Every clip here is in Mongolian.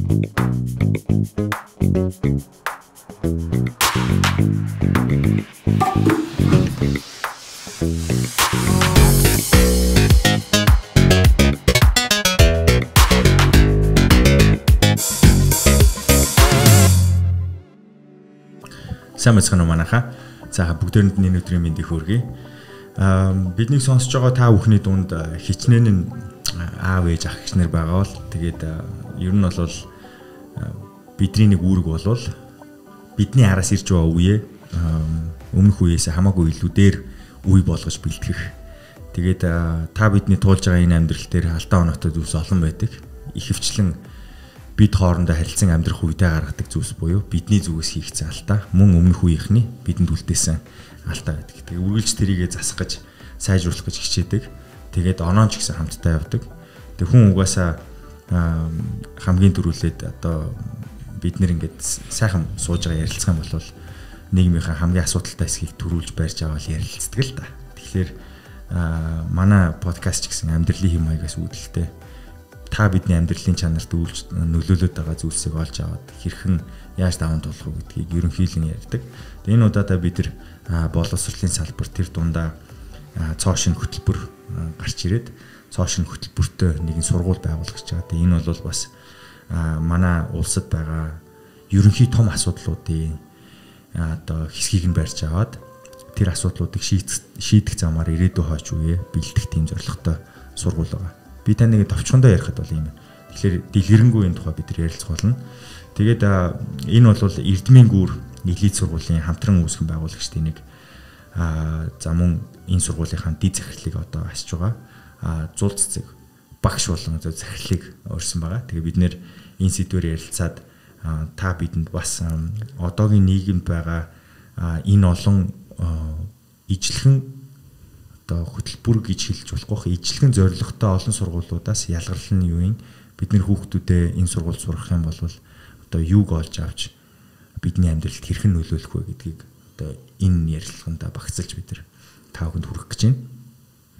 Сайн мэцхан манайха. За бүгдээрэнд нь өнөөдрийн мэндийг хүргэе. Бидний сонсож байгаа та бүхний дунд хичнээн аав ээж ах гişнэр байгаа бол тэгээд ер нь бол бидний нэг үүрэг болвол бидний араас ирж байгаа үеэ өмнөх үеэс хамаагүй илүү дээр үе болгож бэлтгэх. Тэгээд та бидний туулж байгаа энэ амьдрал дээр алдаа оноотой зүйлс олон байдаг. Ихэвчлэн бид хоорондоо харилцан амьдрах үедээ гаргадаг зүйлс буюу бидний зүгээс хийгдсэн алдаа мөн өмнөх үеийнхний бидэнд үлдээсэн алдаа байдаг. Тэгээ үргэлж тэрийгэ засах гэж сайжруулах гэж хичээдэг. Тэгээд оноон ч гэсэн хамтдаа явдаг. Тэг хүн угаасаа хамгийн түрүүлээд одоо бид нэр ингээд сайхан сууж байгаа ярилцах юм бол нийгмийнхаа хамгийн асуудалтай хэсгийг төрүүлж барьж аваад ярилцдаг л да. Тэгэхээр манай подкаст ч гэсэн амьдралын хэм маягаас үүдэлтэй та бидний амьдралын чанарт нөлөөлөд байгаа зүйлсийг олж аваад хэрхэн яаж даван туулах вэ гэдгийг ерөнхийдөө ярьдаг. Тэгээ энэ удаадаа бид нар боловсролын салбар тэр дундаа цоо шин хөтөлбөр гарч ирээд цоо шин хөтөлбөртөө нэгэн сургууль байгуулах гэж байгаа. Тэгээ энэ бол бас манай улсад байгаа ерөнхий том асуудлуудын одоо хэсгийг нь барьж аваад тэр асуудлуудыг шийдэх замаар ирээдүйн хойч үе бэлдэх тийм зорилготой сургууль байгаа. Би таныг товчхондоо ярихад бол юм. Тэгэхээр дэлгэрэнгүй энэ тухай бид нар ярилцах болно. Тэгээд энэ бол Эрдмийн гүр нийлээд сургуулийн хамтран үүсгэн байгуулагчдын нэг за мөн энэ сургуулийнхаа дэд захирлыг одоо асж байгаа. Зул цэцэг багш болон захирлыг өрсөн байгаа. Тэгээ бид нэр энэ сэдвээр ярилцаад та бидэнд бас одоогийн нийгэмд байгаа энэ олон ижлэхэн одоо хөтөлбөр гэж хэлж болохгүй ижлэгэн зорилготой олон сургуулиудаас ялгарлал нь юу юм? Бид нэр хүүхдүүдээ энэ сургууль сурах юм бол одоо юуг олж авч бидний амьдралд хэрхэн нөлөөлөх вэ гэдгийг одоо энэ ярилцлаганд багцлж бид нар та бүхэнд хүргэх гэж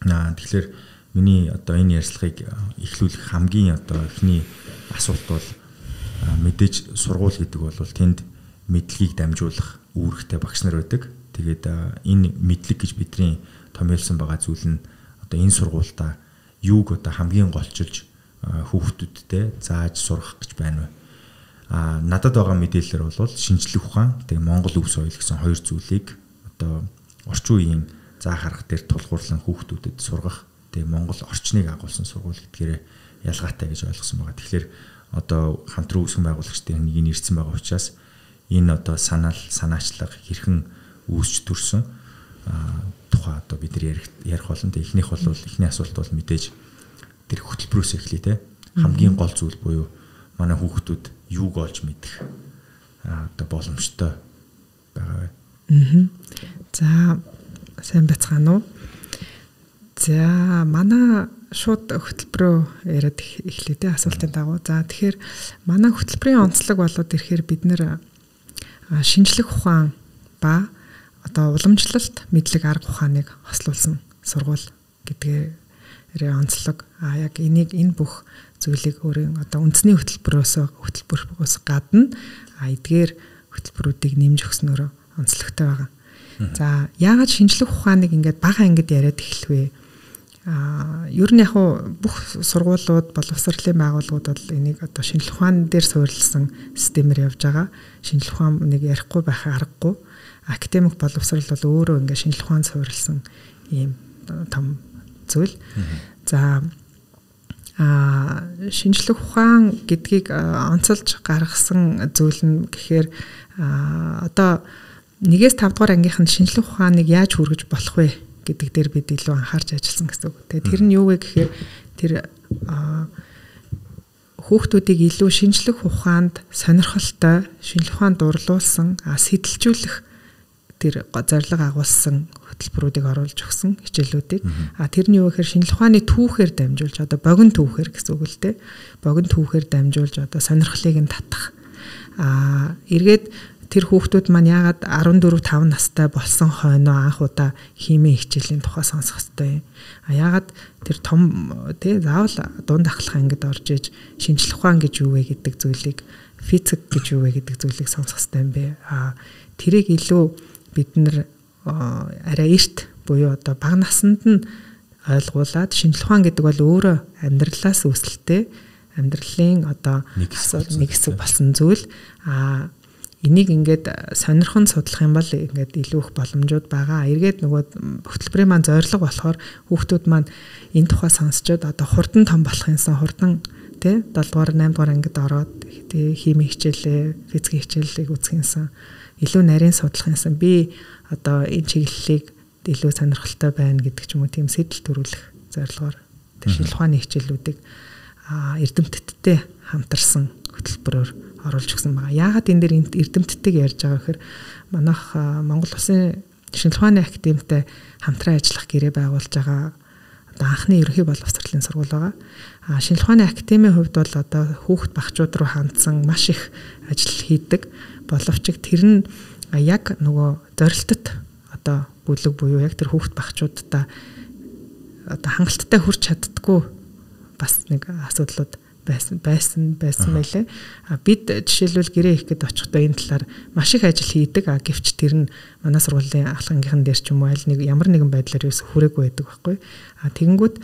байна. Тэгэхээр миний одоо энэ ярилцлагыг эхлүүлэх хамгийн одоо эхний асуулт бол мэдээж сургууль гэдэг бол тэнд мэдлэгийг дамжуулах үүрэгтэй багш нар байдаг. Тэгээд энэ мэдлэг гэж бидний томьёолсон байгаа зүйл нь одоо энэ сургуультай юуг одоо хамгийн голчилж хүүхдүүдтэй зааж сургах гэж байна вэ? Надад байгаа мэдээлэлээр бол шинжлэх ухаан тэгээ Монгол өв соёл гэсэн хоёр зүйлийг одоо орчин үеийн заа харах дээр тулгуурлан хүүхдүүдэд сургах тэгээ Монгол орчныг агуулсан сургууль гэдгээр ялгаатай гэж ойлгосон байгаа. Тэгэхээр одоо хамтран үүсгэн байгуулагчдын нэг нь ирсэн байгаа учраас энэ одоо санаачлага хэрхэн үүсч төрсөн тухай одоо бид нар ярих болно. Тэ эхнийх бол эхний асуулт бол мэдээж тэр хөтөлбөрөөс эхлэе те. Хамгийн гол зүйл буюу манай хүүхдүүд юуг олж мэдэх одоо боломжтой байгаа вэ? За сайн бацгаана уу? За манай шууд хөтөлбөрөө яриад эхлэе те асуултын дагуу. За тэгэхээр манай хөтөлбөрийн онцлог болоод ирэхээр бид нэр шинжлэх ухаан ба одоо уламжлалт мэдлэг арга ухааныг хослуулсан сургууль гэдгээр онцлог. Яг энэ бүх зүйлийг өөрийн одоо үндэсний хөтөлбөрөөс гадна эдгээр хөтөлбөрүүдийг нэмж өгснөөр онцлогтой байгаа. За яагаад шинжлэх ухааныг ингээд бага ангид яриад эхлэв? Ер нь яг бүх сургуулиуд боловсролын байгууллагууд бол энийг одоо шинжлэх ухаан дээр суурилсан системээр явж байгаа. Шинжлэх ухаан нэг ярихгүй байх аргагүй. Академик боловсрол бол өөрөө ингээд шинжлэх ухаанд суурилсан ийм том зүйл. За шинжлэх ухаан гэдгийг онцолж гаргасан зүйл нь гэхээр одоо 1-5 дугаар ангийнханд шинжлэх ухааныг яаж хүргэж болох вэ гэдэг дээр бид илүү анхаарч ажилласан гэсэн үг. Тэгээ тэр нь юу вэ гэхээр тэр хүүхдүүдийг илүү шинжлэх ухаанд сонирхолтой, шинжлэх ухаанд дурлуулсан, сэтэлжүүлэх тэр зорилго агуулсан хөтөлбөрүүдийг оруулж өгсөн хичээлүүдийг. Тэр нь юу гэхээр шинжлэх ухааны түүхээр дамжуулж одоо богино түүхээр гэсэн үг л дээ. Богино түүхээр дамжуулж одоо сонирхлыг нь татах. Эргээд тэр хүүхдүүд маань яагаад 14-5 настай болсон хойноо анх удаа химийн хичээлийн тухай сонсох ёстой юм. Яагаад тэр том заавал дунд ахлах ангид орж иж шинжлэх ухаан гэж юу вэ гэдэг зүйлийг, физик гэж юу вэ гэдэг зүйлийг сонсох ёстой юм бэ. Тэрийг илүү бид нар арай эрт буюу одоо бага наснд нь ойлгуулад, шинжлэх ухаан гэдэг бол өөрөө амьдралаас үүсэлтэй, амьдралын одоо нэг хэсэг болсон зүйл. Энийг ингээд сонирхон судлах юм бол ингээд илүү их боломжууд байгаа. Эргээд нөгөө хөтөлбөрийн маань зорилго болохоор хүүхдүүд маань энэ тухай сонсчод одоо хурдан том болох юмсан, хурдан 7 дугаар 8 дугаар ангид ороод химийн хичээлээ, физикийн хичээлийг үзэх юмсан, илүү нарийн судлах юмсан. Би одоо энэ чиглэлийг илүү сонирхолтой байна гэдэг ч юм уу, тийм сэтэл төрүүлэх зорилгоор тэр шинжлэх ухааны хичээлүүдийг эрдэмтдтэй хамтарсан хөтөлбөрөөр оруулж өгсөн байгаа. Яагаад энэ дээр эрдэмтдтэйг ярьж байгаа гэхээр манайх Монгол Улсын шинжлэх ухааны академитай хамтран ажиллах гэрээ байгуулж байгаа одоо анхны ерөнхий боловсролын сургууль байгаа. Шинжлэх ухааны академийн хувьд бол одоо хүүхд багчууд руу хандсан маш их ажил хийдэг. Боловч тэр нь яг нөгөө зорилтод одоо бүлэг буюу яг тэр хүүхд багчуудаа одоо хангалттай хүрч чаддаггүй бас нэг асуудлууд байсан байлээ. Бид жишээлбэл гэрээ хийх гээд очихдоо энэ талаар маш их ажил хийдэг. Гэвч тэр нь манай сургуулийн ахлагын дээр ч юм уу аль нэг ямар нэгэн байдлаар юус хүрээгүй байдаг байхгүй. Тэгэнгүүт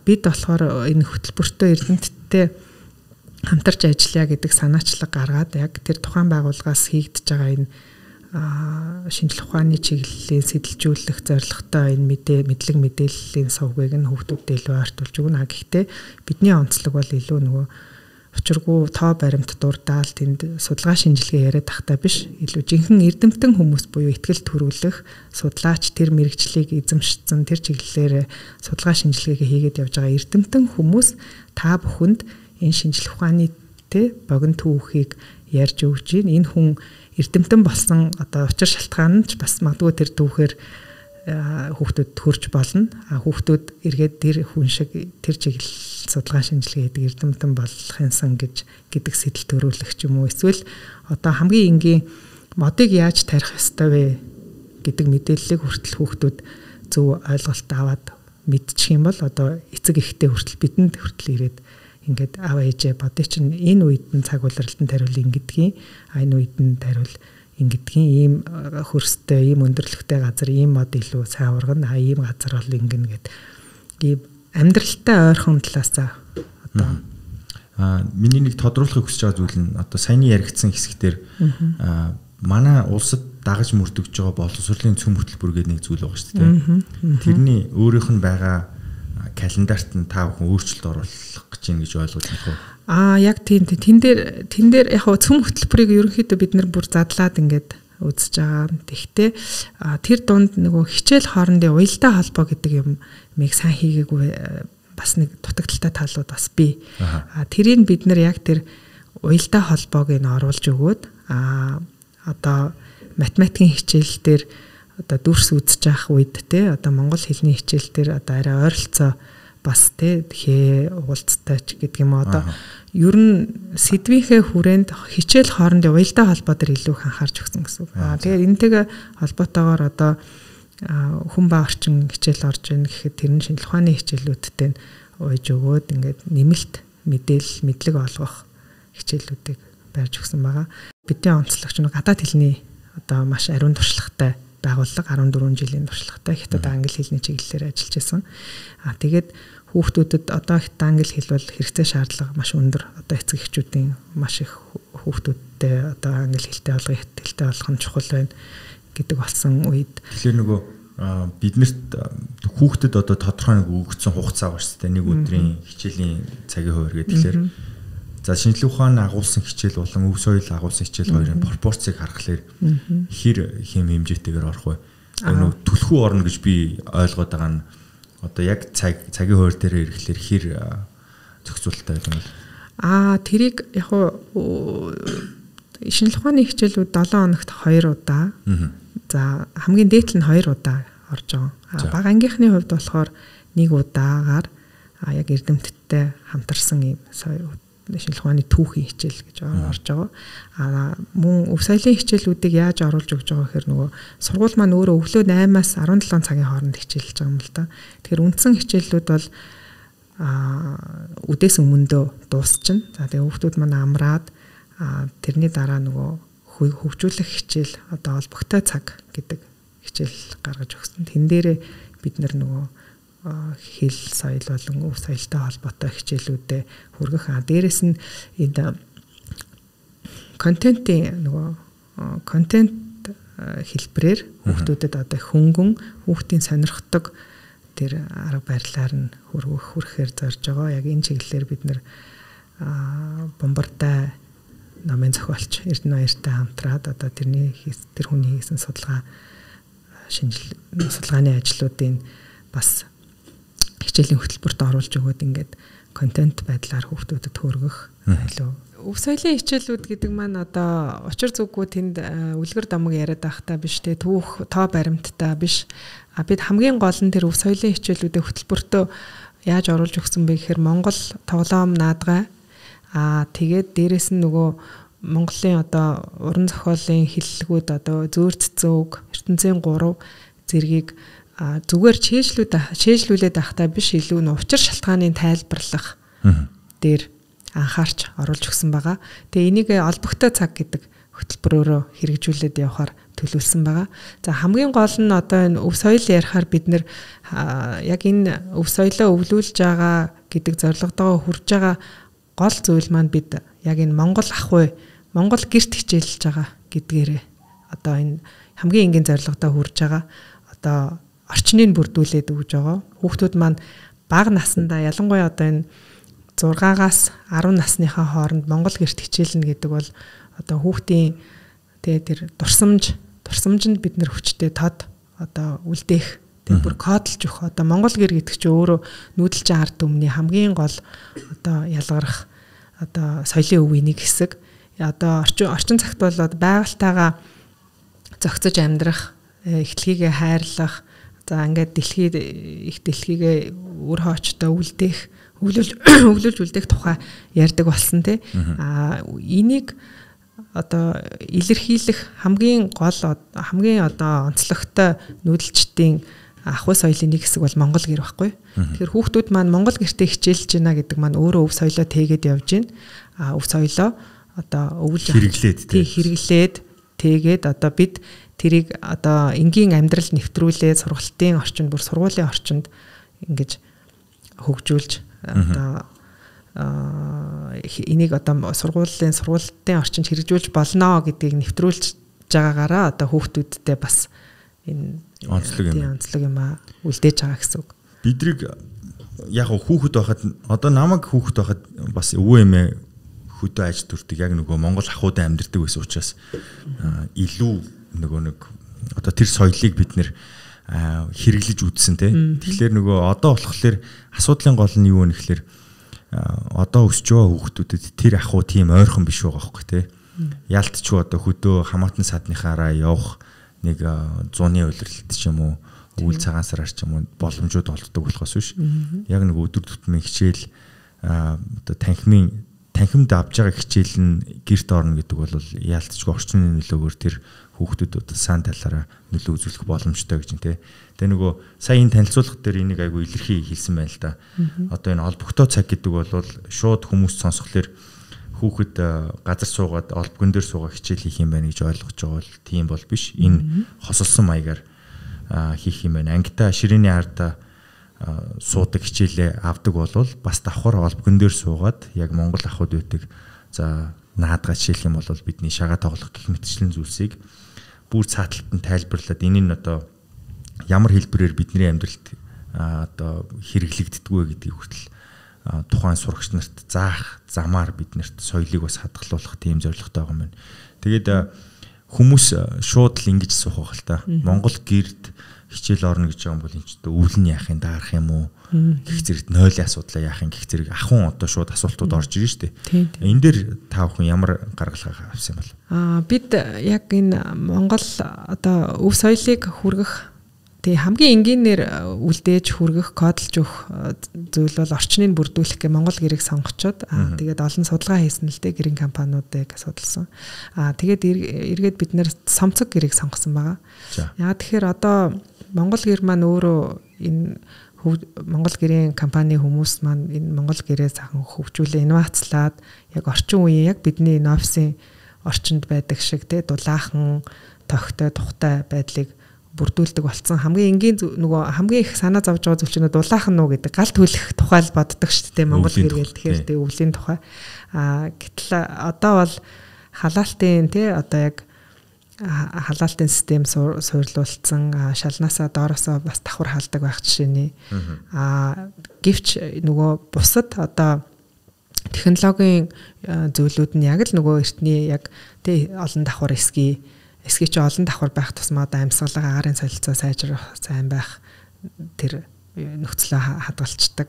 бид болохоор энэ хөтөлбөртөө эрдэмтдтэй хамтарч ажиллая гэдэг санаачлаг гаргаад яг тэр тухайн байгууллагаас хийгдэж байгаа энэ шинжлэх ухааны чиглэлийн сэтэлжүүлэх зорилготой энэ мэдлэг мэдээллийн сувгийг нь хүүхдүүдэд илүү ойртуулж өгнө. Гэхдээ бидний онцлог бол илүү нөгөө учиргүй тоо баримт дурдаал тэнд судалгаа шинжилгээ яриад тахтай биш, илүү жинхэнэ эрдэмтэн хүмүүс буюу ихтгэл төрүүлэх судлаач, тэр мэрэгчлийг эзэмшсэн, тэр чиглэлээр судалгаа шинжилгээгээ хийгээд явж байгаа эрдэмтэн хүмүүс та бүхэнд энэ шинжлэх ухааны богино түүхийг ярьж өгч энэ хүн эрдэмтэн болсон одоо учир шалтгаан нь ч бас магадгүй тэр түүхээр хүүхдүүд хөрж болно. Хүүхдүүд эргээд тэр хүн шиг тэр чиглэл судалгаа шинжилгээ хийдэг эрдэмтэн болох юмсан гэдэг сэтэл төрүүлэх ч юм уу. Эсвэл одоо хамгийн энгийн модыг яаж тарих ёстой вэ гэдэг мэдээллийг хүртэл хүүхдүүд зөв ойлголт аваад мэдчих юм бол одоо эцэг эхтэй хүртэл бидэнд хүртэл ирээд ингээд аав ээжээ бодё чинь энэ үед нь цаг улиралтанд хариул ингэдгийн, энэ үед нь хариул ингэдгийн, ийм хөрстэй, ийм өндөрлөгтэй газар ийм мод илүү сайн ургана, ийм газар бол ингэнэ гэд ийм амьдралтай ойрхон талаас одоо миний нэг тодруулахыг хүсэж байгаа зүйл нь одоо саяны яригдсан хэсгээр манай улсад дагаж мөрдөгж байгаа боловсролын цөм хөтөлбөр гэдэг нэг зүйл байгаа шүү дээ. Тэрний өөрийнх нь байгаа календарт нь та бүхэн өөрчлөлт оруулах гэж байна гэж ойлгож байна уу? Яг тийм. Тэн дээр яг цөм хөтөлбөрийг ерөнхийдөө бид нар бүр задлаад ингээд үзэж байгаа. Тэгэхдээ тэр дунд нөгөө хичээл хоорондын уялдаа холбоо гэдэг юмыг сайн хийгээгүй бас нэг дутагдaltaй талууд бас бий. Тэрийг бид нар яг тэр уялдаа холбоог нь оруулж өгөөд одоо математикийн хичээл дээр одоо дүрс үзэж явах үед одоо монгол хэлний хичээл дээр одоо арай ойролцоо бас тэгэхээр уулзтай ч гэдэг юм одоо ер нь сэдвийнхээ хүрээнд хичээл хоорондын уялдаа холбоо дээр илүү их анхаарч өгсөн гэсэн үг. Тэгэхээр энэтэйгээ холбоотойгоор одоо хүн ба орчин хичээл орж ийн гэхэд тэр нь шинжлэх ухааны хичээлүүдтэй ууж өгөөд ингээд нэмэлт мэдлэг олгох хичээлүүдийг барьж өгсөн байгаа. Бидний онцлогч нь гадаад хэлний одоо маш ариун туршлагатай байгууллага 14 жилийн туршлагатай хятад англи хэлний чиглэлээр ажиллаж байсан. Тэгээд хүүхдүүдэд одоо хятад англи хэл бол хэрэгцээ шаардлага маш өндөр. Одоо эцэг эхчүүдийн маш их хүүхдүүдтэй одоо англи хэлтэй болгох, хятад хэлтэй болгох нь чухал байна гэдэг болсон үед. Тэгэхээр нөгөө биднэрт хүүхдэд одоо тодорхой нэг өгөгдсөн хугацаа байна шүү дээ. Нэг өдрийн хичээлийн цагийн хуваар гэдэг. Тэгэхээр за шинжлэх ухааны агуулсан хичээл болон өв соёл агуулсан хичээл хоёрын пропорцийг харахаар хэр хэм хэмжээтэйгээр орох вэ? Нөгөө түлхүү орно гэж би ойлгоод байгаа нь одоо яг цагийн хуваар дээр ирэхлээр хэр зохицуулалттай байх юм бол тэрийг яг шинжлэх ухааны хичээлүүд 7 хоногт 2 удаа. За хамгийн дээд нь 2 удаа орж байгаа. Бага ангийнхны хувьд болохоор 1 удаагаар яг эрдэмтдтэй хамтарсан юм шинжлэх ухааны түүхийн хичээл гэж орж байгаа. Мөн өв соёлын хичээлүүдийг яаж оруулж өгч байгаа гэхээр нөгөө сургууль маань өөрөө өглөө 8-аас 17 цагийн хооронд хичээлж байгаа юм л да. Тэгэхээр үндсэн хичээлүүд бол үдээс өмнөдөө дуусчихна. За тэгээ хүүхдүүд маань амраад тэрний дараа нөгөө хөгжүүлэх хичээл одоо олбогтой цаг гэдэг хичээл гаргаж өгсөн. Тэн дээрээ бид нөгөө хэл соёл болон өв соёлтой холбоотой хичээлүүдэд хүргэх. Дээрээс нь энэ контент хэлбэрээр хүүхдүүдэд одоо хөнгөн хүүхдийн сонирхдог тэр арга барилаар нь хүргэхээр зорж байгаа. Яг энэ чиглэлээр бид нэр бомбартай номын зохиолч Эрдэнэ Баяртай хамтраад одоо тэр хүний хийсэн судалгааны ажлуудын бас хичээлийн хөтөлбөрт оруулж өгөөд ингээд контент байдлаар хүүхдүүдэд хүргэх илүү. Өв соёлын хичээлүүд гэдэг маань одоо учир зүггүй тэнд үлгэр домог яриад байхдаа биш те түүх тоо баримттай биш. Бид хамгийн гол нь тэр өв соёлын хичээлүүдэд хөтөлбөртөө яаж оруулж өгсөн бэ гэхээр Монгол тоглоом наадгай тэгээд дээрэс нь нөгөө Монголын одоо уран зохиолын хэллэгүүд одоо зөөрццөн үг ертөнцийн 3 зэргийг зүгээр чэйжлүүлээд байхдаа биш илүү нь учир шалтгааны тайлбарлах дээр анхаарч оруулж өгсөн байгаа. Тэгээ энийг олбогтой цаг гэдэг хөтөлбөрөөрөө хэрэгжүүлээд явахаар төлөвлөсөн байгаа. За хамгийн гол нь одоо энэ өв соёл ярихаар бид нэр яг энэ өв соёлоо өвлүүлж байгаа гэдэг зорилготойгоо хүрж байгаа гол зүйл маань бид яг энэ Монгол ах уу Монгол гэрт хичээлж байгаа гэдгээрээ одоо энэ хамгийн энгийн зорилготой хүрж байгаа. Одоо орчныг бүрдүүлээд өгж байгаа. Хүүхдүүд маань бага наснда ялангуяа одоо энэ 6-аас 10 насныхаа хооронд Монгол гэрт хичээлнэ гэдэг бол одоо хүүхдийн тэр дурсамжинд бид нэр хүчтэй тод одоо үлдээх тэр бүр кодлж өгөх. Одоо Монгол гэр гэдэг чинь өөрөө нүүдэлчин ард түмний хамгийн гол одоо ялгарх одоо соёлын өвийн нэг хэсэг. Одоо орчин цагт бол байгальтайгаа зохицож амьдрах, эхлэхийгээ хайрлах, за ингээд дэлхийгээ үр хоочтой өвлүүлж үлдээх тухай ярьдаг болсон тий. Энийг одоо илэрхийлэх хамгийн одоо онцлогтой нүүдэлчдийн ахуй соёлын нэг хэсэг бол Монгол гэр байхгүй. Тэгэхээр хүүхдүүд маань Монгол гэртээ хичээлж байна гэдэг маань өөрөө өв соёлоо тээгээд явж байна. Өв соёлоо одоо өвлж хэрэглээд тэгээд одоо бид тэрийг одоо энгийн амьдрал нэвтрүүлээд сургалтын орчинд бүр сургуулийн орчинд ингэж хөгжүүлж одоо энийг одоо сургуулийн орчинд хэрэгжүүлж болно гэдгийг нэвтрүүлж байгаагаараа одоо хүүхдүүдтэй бас энэ онцлог юм үлдээж байгаа гэсэн үг. Бидрийг яг хүүхэд байхад одоо намайг хүүхэд байхад бас өвөө эмээ хөдөө аж төрдөг яг нөгөө Монгол ахуйд амьдардаг байсан учраас илүү нэг одоо тэр соёлыг бид нэр хэрэглэж үзсэн те. Тэгэхээр нөгөө одоо болохоор асуудлын гол нь юу вэ гэхээр одоо өсч байгаа хүүхдүүдэд тэр ахуй тийм ойрхон биш байгаа байхгүй те. Ялтчгүй одоо хөдөө хамаатан садныхаараа явах нэг 100-ны улирлт ч юм уу үйл цагаансараар ч юм уу боломжууд олддог болохоос биш. Яг нэг өдөр тутмын хичээл одоо танхимд авж байгаа хичээл нь гэрт орно гэдэг бол яалтчгүй орчны нөлөөгөөр тэр хүүхдүүд сан талаараа нөлөө үзүүлэх боломжтой гэж байна те. Тэгээ нөгөө сая энэ танилцуулга дээр энийг айгүй илэрхий хэлсэн байна л да. Одоо энэ олбогтой цаг гэдэг бол шууд хүмүүс сонсхолоор хүүхэд газар суугаад олбгон дээр суугаа хичээл хийх юм байна гэж ойлгож байгаа бол тийм бол биш. Энэ хосолсон маягаар хийх юм байна. Ангита ширээний ардаа суудаг хичээлээ авдаг бол бас давхар олбгон дээр суугаад яг Монгол ахуйд үүдэг за наадгаа хичээлэх юм бол бидний шагаа тоглох гэх мэтчлэн зүйлсийг бүр цааталт нь тайлбарлаад энэ нь одоо ямар хэлбэрээр бидний амьдралд одоо хэрэглэгддэггүй гэдгийг хүртэл тухайн сурагч нарт заах замаар биднэрт соёлыг бас хадгалуулах тийм зорилготой байгаа юм байна. Тэгээд хүмүүс шууд л ингэж суух байх л та. Монгол гэрд хичээл орно гэж байгаа юм бол энэ ч одоо өвлөн яахын даарах юм уу? Гэх зэрэгт нойлын асуудлаа яахын гэх зэрэг ахын одоо шууд асуултууд орж ирж штэ. Энэ дээр та бүхэн ямар гаргалгаа авсан юм бол? Бид яг энэ Монгол одоо өв соёлыг хүргэх Тэгээ хамгийн энгийнээр үлдээж хүргэх, кодлж өгөх зүйл бол орчныг бүрдүүлэх гэх Монгол гэрийг сонгочоод тэгээд олон судалгаа хийсэн л дээ гэрийн компаниудыг судалсан. Тэгээд эргээд бид нэр Сомцог гэрийг сонгосон байгаа. Яа тэгэхээр одоо Монгол гэр маань өөрөө энэ Монгол гэрийн компани хүмүүс маань энэ Монгол гэрээ сайхан хөгжүүлээ, инновацлаад яг орчин үеийн яг бидний энэ офисын орчинд байдаг шиг те дулаахан, тогтой, тухтай байдлыг бүрдүүлдэг болсон. Хамгийн энгийн нөгөө хамгийн их санаа зовж байгаа зүйл чинь дулаахан нуу гэдэг гал түлэх тухай л боддог шүү дээ Монгол гэр гэл тэгэхээр тэг өвлийн тухай. Гэтэл одоо бол халаалтын тий одоо яг халаалтын систем суйрлуулсан шалнаасаа доороосоо бас давхар халдаг байх жишээний. Гэвч нөгөө бусад одоо технологийн зүйлүүд нь яг л нөгөө эртний яг тий олон давхар эсгий чи олон давхар байх тусмаа одоо амьсгалаа агарын солилцоо сайжрах сайн байх тэр нөхцөлөө хадгалцдаг.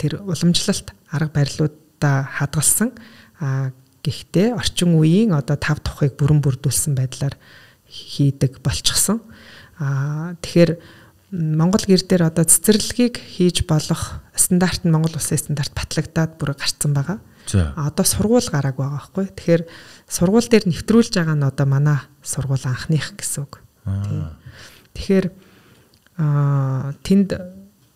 Тэр уламжлалт арга барилуудаа хадгалсан. Гэхдээ орчин үеийн одоо тав тухыг бүрэн бүрдүүлсэн байдлаар хийдэг болчихсон. Тэгэхээр Монгол гэр дээр одоо цэцэрлэгийг хийж болох стандарт нь Монгол улсын стандарт батлагдаад бүр гарцсан байгаа. Одоо сургууль гарааг байгаа байхгүй. Тэгэхээр сургууль дээр нэвтрүүлж байгаа нь одоо манай сургууль анхных гэсэн үг. Тэгэхээр тэнд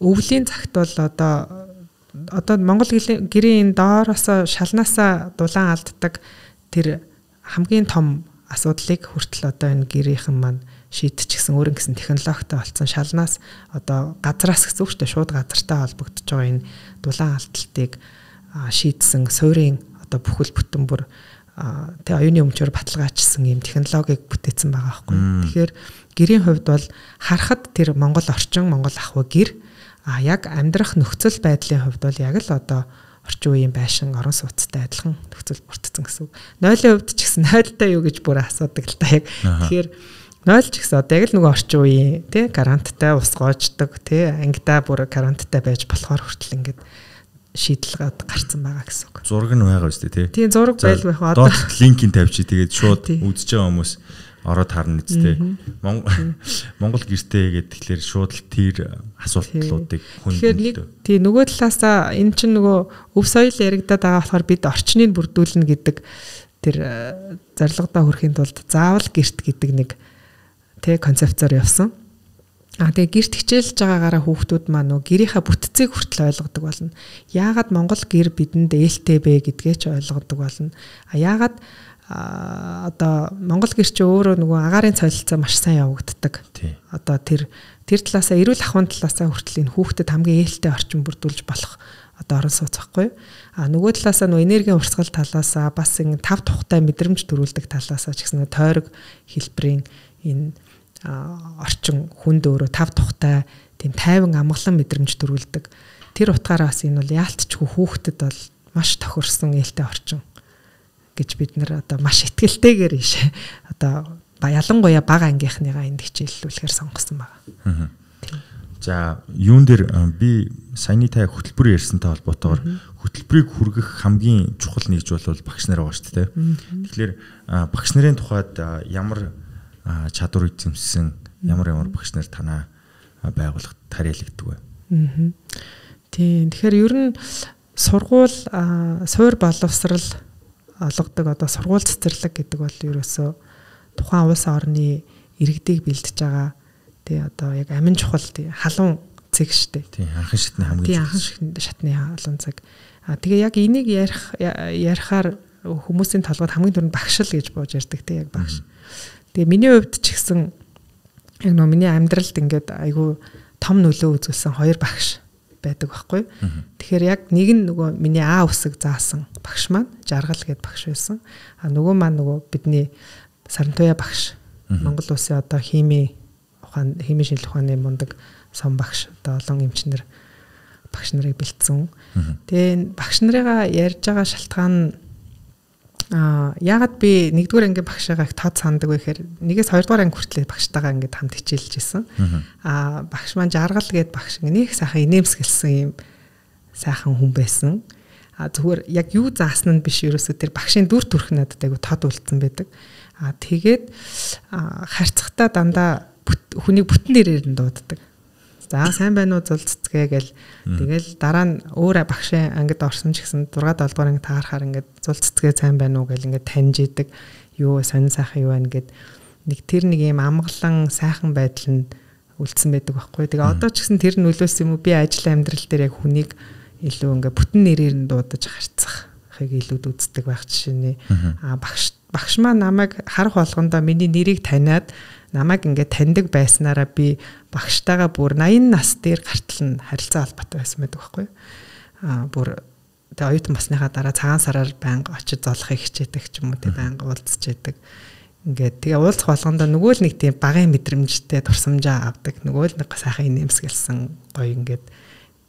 өвлийн цагт бол одоо Монгол гэрийн доороосоо шалнаасаа дулаан алддаг тэр хамгийн том асуудлыг хүртэл одоо энэ гэрийнхэн маань шийдчихсэн өөрийн гэсэн технологитой болсон шалнаас одоо газраас гэсэн үг шүү дээ шууд газартай холбогдож байгаа энэ дулаан алдалтыг шийдсэн суурийн одоо бүхэл бүтэн бүр тэг оюуны өмчөөр баталгаажсан юм технологиг бүтээсэн байгаа байхгүй. Тэгэхээр гэрийн хувьд бол харахад тэр Монгол орчин, Монгол ахуй гэр яг амьдрах нөхцөл байдлын хувьд бол яг л одоо орчин үеийн байшин орон сууцтай адилхан нөхцөл бүрдсэн гэсэн үг. Нойлын хувьд ч гэсэн нойлтой юу гэж бүр асуудаг л та яг. Тэгэхээр нойл ч гэсэн одоо яг л нөгөө орчин үеийн тий гаранттай ус гоождог тий ангидаа бүр гаранттай байж болохоор хүртэл ингээд шийдэл гарцсан байгаа гэсэн үг. Зураг нь байгаа үстэй тий. Тийм зураг байл байх одоо доод линкийг тавьчих тэгээд шууд үзэж байгаа хүмүүс ороод харна үстэй. Монгол гэртээ гэдэг тэгэхээр шууд л тэр асуултуудыг хүндэлдэг. Тийм нөгөө талаасаа эн чинь нөгөө өв соёл яригадаад байгаа болохоор бид орчныг бүрдүүлнэ гэдэг тэр зорилгодоо хүрэхийн тулд заавал гэрт гэдэг нэг тий концепцоор явсан. Тэгээ гэрт хичээлж байгаагаараа хүүхдүүд маань нөгөө гэрийнхаа бүтцийг хүртэл ойлгодог болно. Яагаад Монгол гэр бидэнд ээлтэй бэ гэдгээ ч ойлгодог болно. Яагаад одоо Монгол гэр чи өөрөө нөгөө агарын солилцоо маш сайн явагддаг. Одоо тэр талаасаа эрүүл ахуйн талаасаа хүртэл энэ хүүхдэд хамгийн ээлтэй орчин бүрдүүлж болох одоо орон сууц байхгүй. Нөгөө талаасаа нөгөө энергийн урсгал талаасаа бас ингэ тав тухтай мэдрэмж төрүүлдэг талаасаа ч гэсэн тойрог хэлбэрийн энэ орчин хүнд өөрөө тав тухтай тийм тайван амгалан мэдрэмж төрүүлдэг. Тэр утгаараас энэ бол яалтчгүй хүүхдэд бол маш тохирсон ээлтэй орчин гэж бид нэр одоо маш ихтгэлтэйгээр ишээ одоо ялангуяа бага ангийнхныгаа энд хичээллүүлэхээр сонгосон байгаа. За юун дээр би саяны та хөтөлбөр ярьсантай холбоотойгоор хөтөлбөрийг хүргэх хамгийн чухал нэгж бол багш нар байгаа шүү дээ. Тэгэхээр багш нарын тухайд ямар чадвар эзэмссэн ямар багш нар танаа байгууллагад тариалагддаг вэ? Тийм. Тэгэхээр ер нь сургууль суур боловсрал олгодог одоо сургууль цэцэрлэг гэдэг бол ерөөсөө тухайн улс орны иргэдийг бэлдэж байгаа тий одоо яг амин чухал тий халуун цэг штэ. Тий анхан шатны хамгийн тий анхан шатны халуун цэг. Тэгээ яг энийг ярихаар хүмүүсийн толгойд хамгийн түрүүнд багш л гэж бууж ярьдаг тий яг багш. Тэгээ миний хувьд ч гэсэн яг нөө миний амьдралд ингээд айгүй том нөлөө үзүүлсэн хоёр багш байдаг байхгүй. Тэгэхээр яг нэг нь нөгөө миний А үсэг заасан багш маань Жаргал гэдэг багш байсан. Нөгөө маань нөгөө бидний Сарантуяа багш. Монгол улсын одоо химийн шинжилгээ ухааны мундаг сон багш одоо олон эмчнэр багш нарыг бэлдсэн. Тэгээ багш нарыгаа ярьж байгаа шалтгаан яагаад би 1-р анги багшаагаа их тод сандаг вэ гэхээр 1-2 анги хүртэл багштайгаа ингээд хамт хичээлж исэн. Багш маань Жаргал гээд багш нэг сайхан инээмсэглсэн юм сайхан хүн байсан. Зүгээр яг юу заасан нь биш ерөөсөө тэр багшийн дүр төрх надад айгу тод үлдсэн байдаг. Тэгээд харьцахтаа дандаа хүнийг бүтэн нэрээр нь дууддаг. За сайн байна уу зулццгээ гэл тэгэл дараа нь өөр багшийн ангид орсон ч гэсэн 6 7 дугаар анги таарахаар ингээд зулццгээ сайн байна уу гэл ингээд таньж идэг. Юу сонин сайхан юу байна гэд нэг тэр нэг юм амгалан сайхан байдал нь үлдсэн байдаг байхгүй. Тэгээ одоо ч гэсэн тэр нөлөөс юм уу би ажил амьдрал дээр яг хүнийг илүү ингээд бүтэн нэрээр нь дуудаж харьцахыг илүү үздэг байх жишээ нэ. Багш маань намайг харах болгондоо миний нэрийг таниад намайг ингээд таньдаг байснараа би багштайгаа бүр 80 нас дээр гартал нь харилцаа холбоотой байсан байдаг байхгүй. Бүр тэгээ оюутан басныхаа дараа цагаан сараар байнга очиж золохыг хичээдэг ч юм уу тэгээ байнга уулзчээдэг. Ингээд тэгээ уулзах болгондоо нөгөө л нэг тийм багын мэдрэмжтэй турсамжаа авдаг. Нөгөө л нэг сайхан инээмсэглсэн гоё ингээд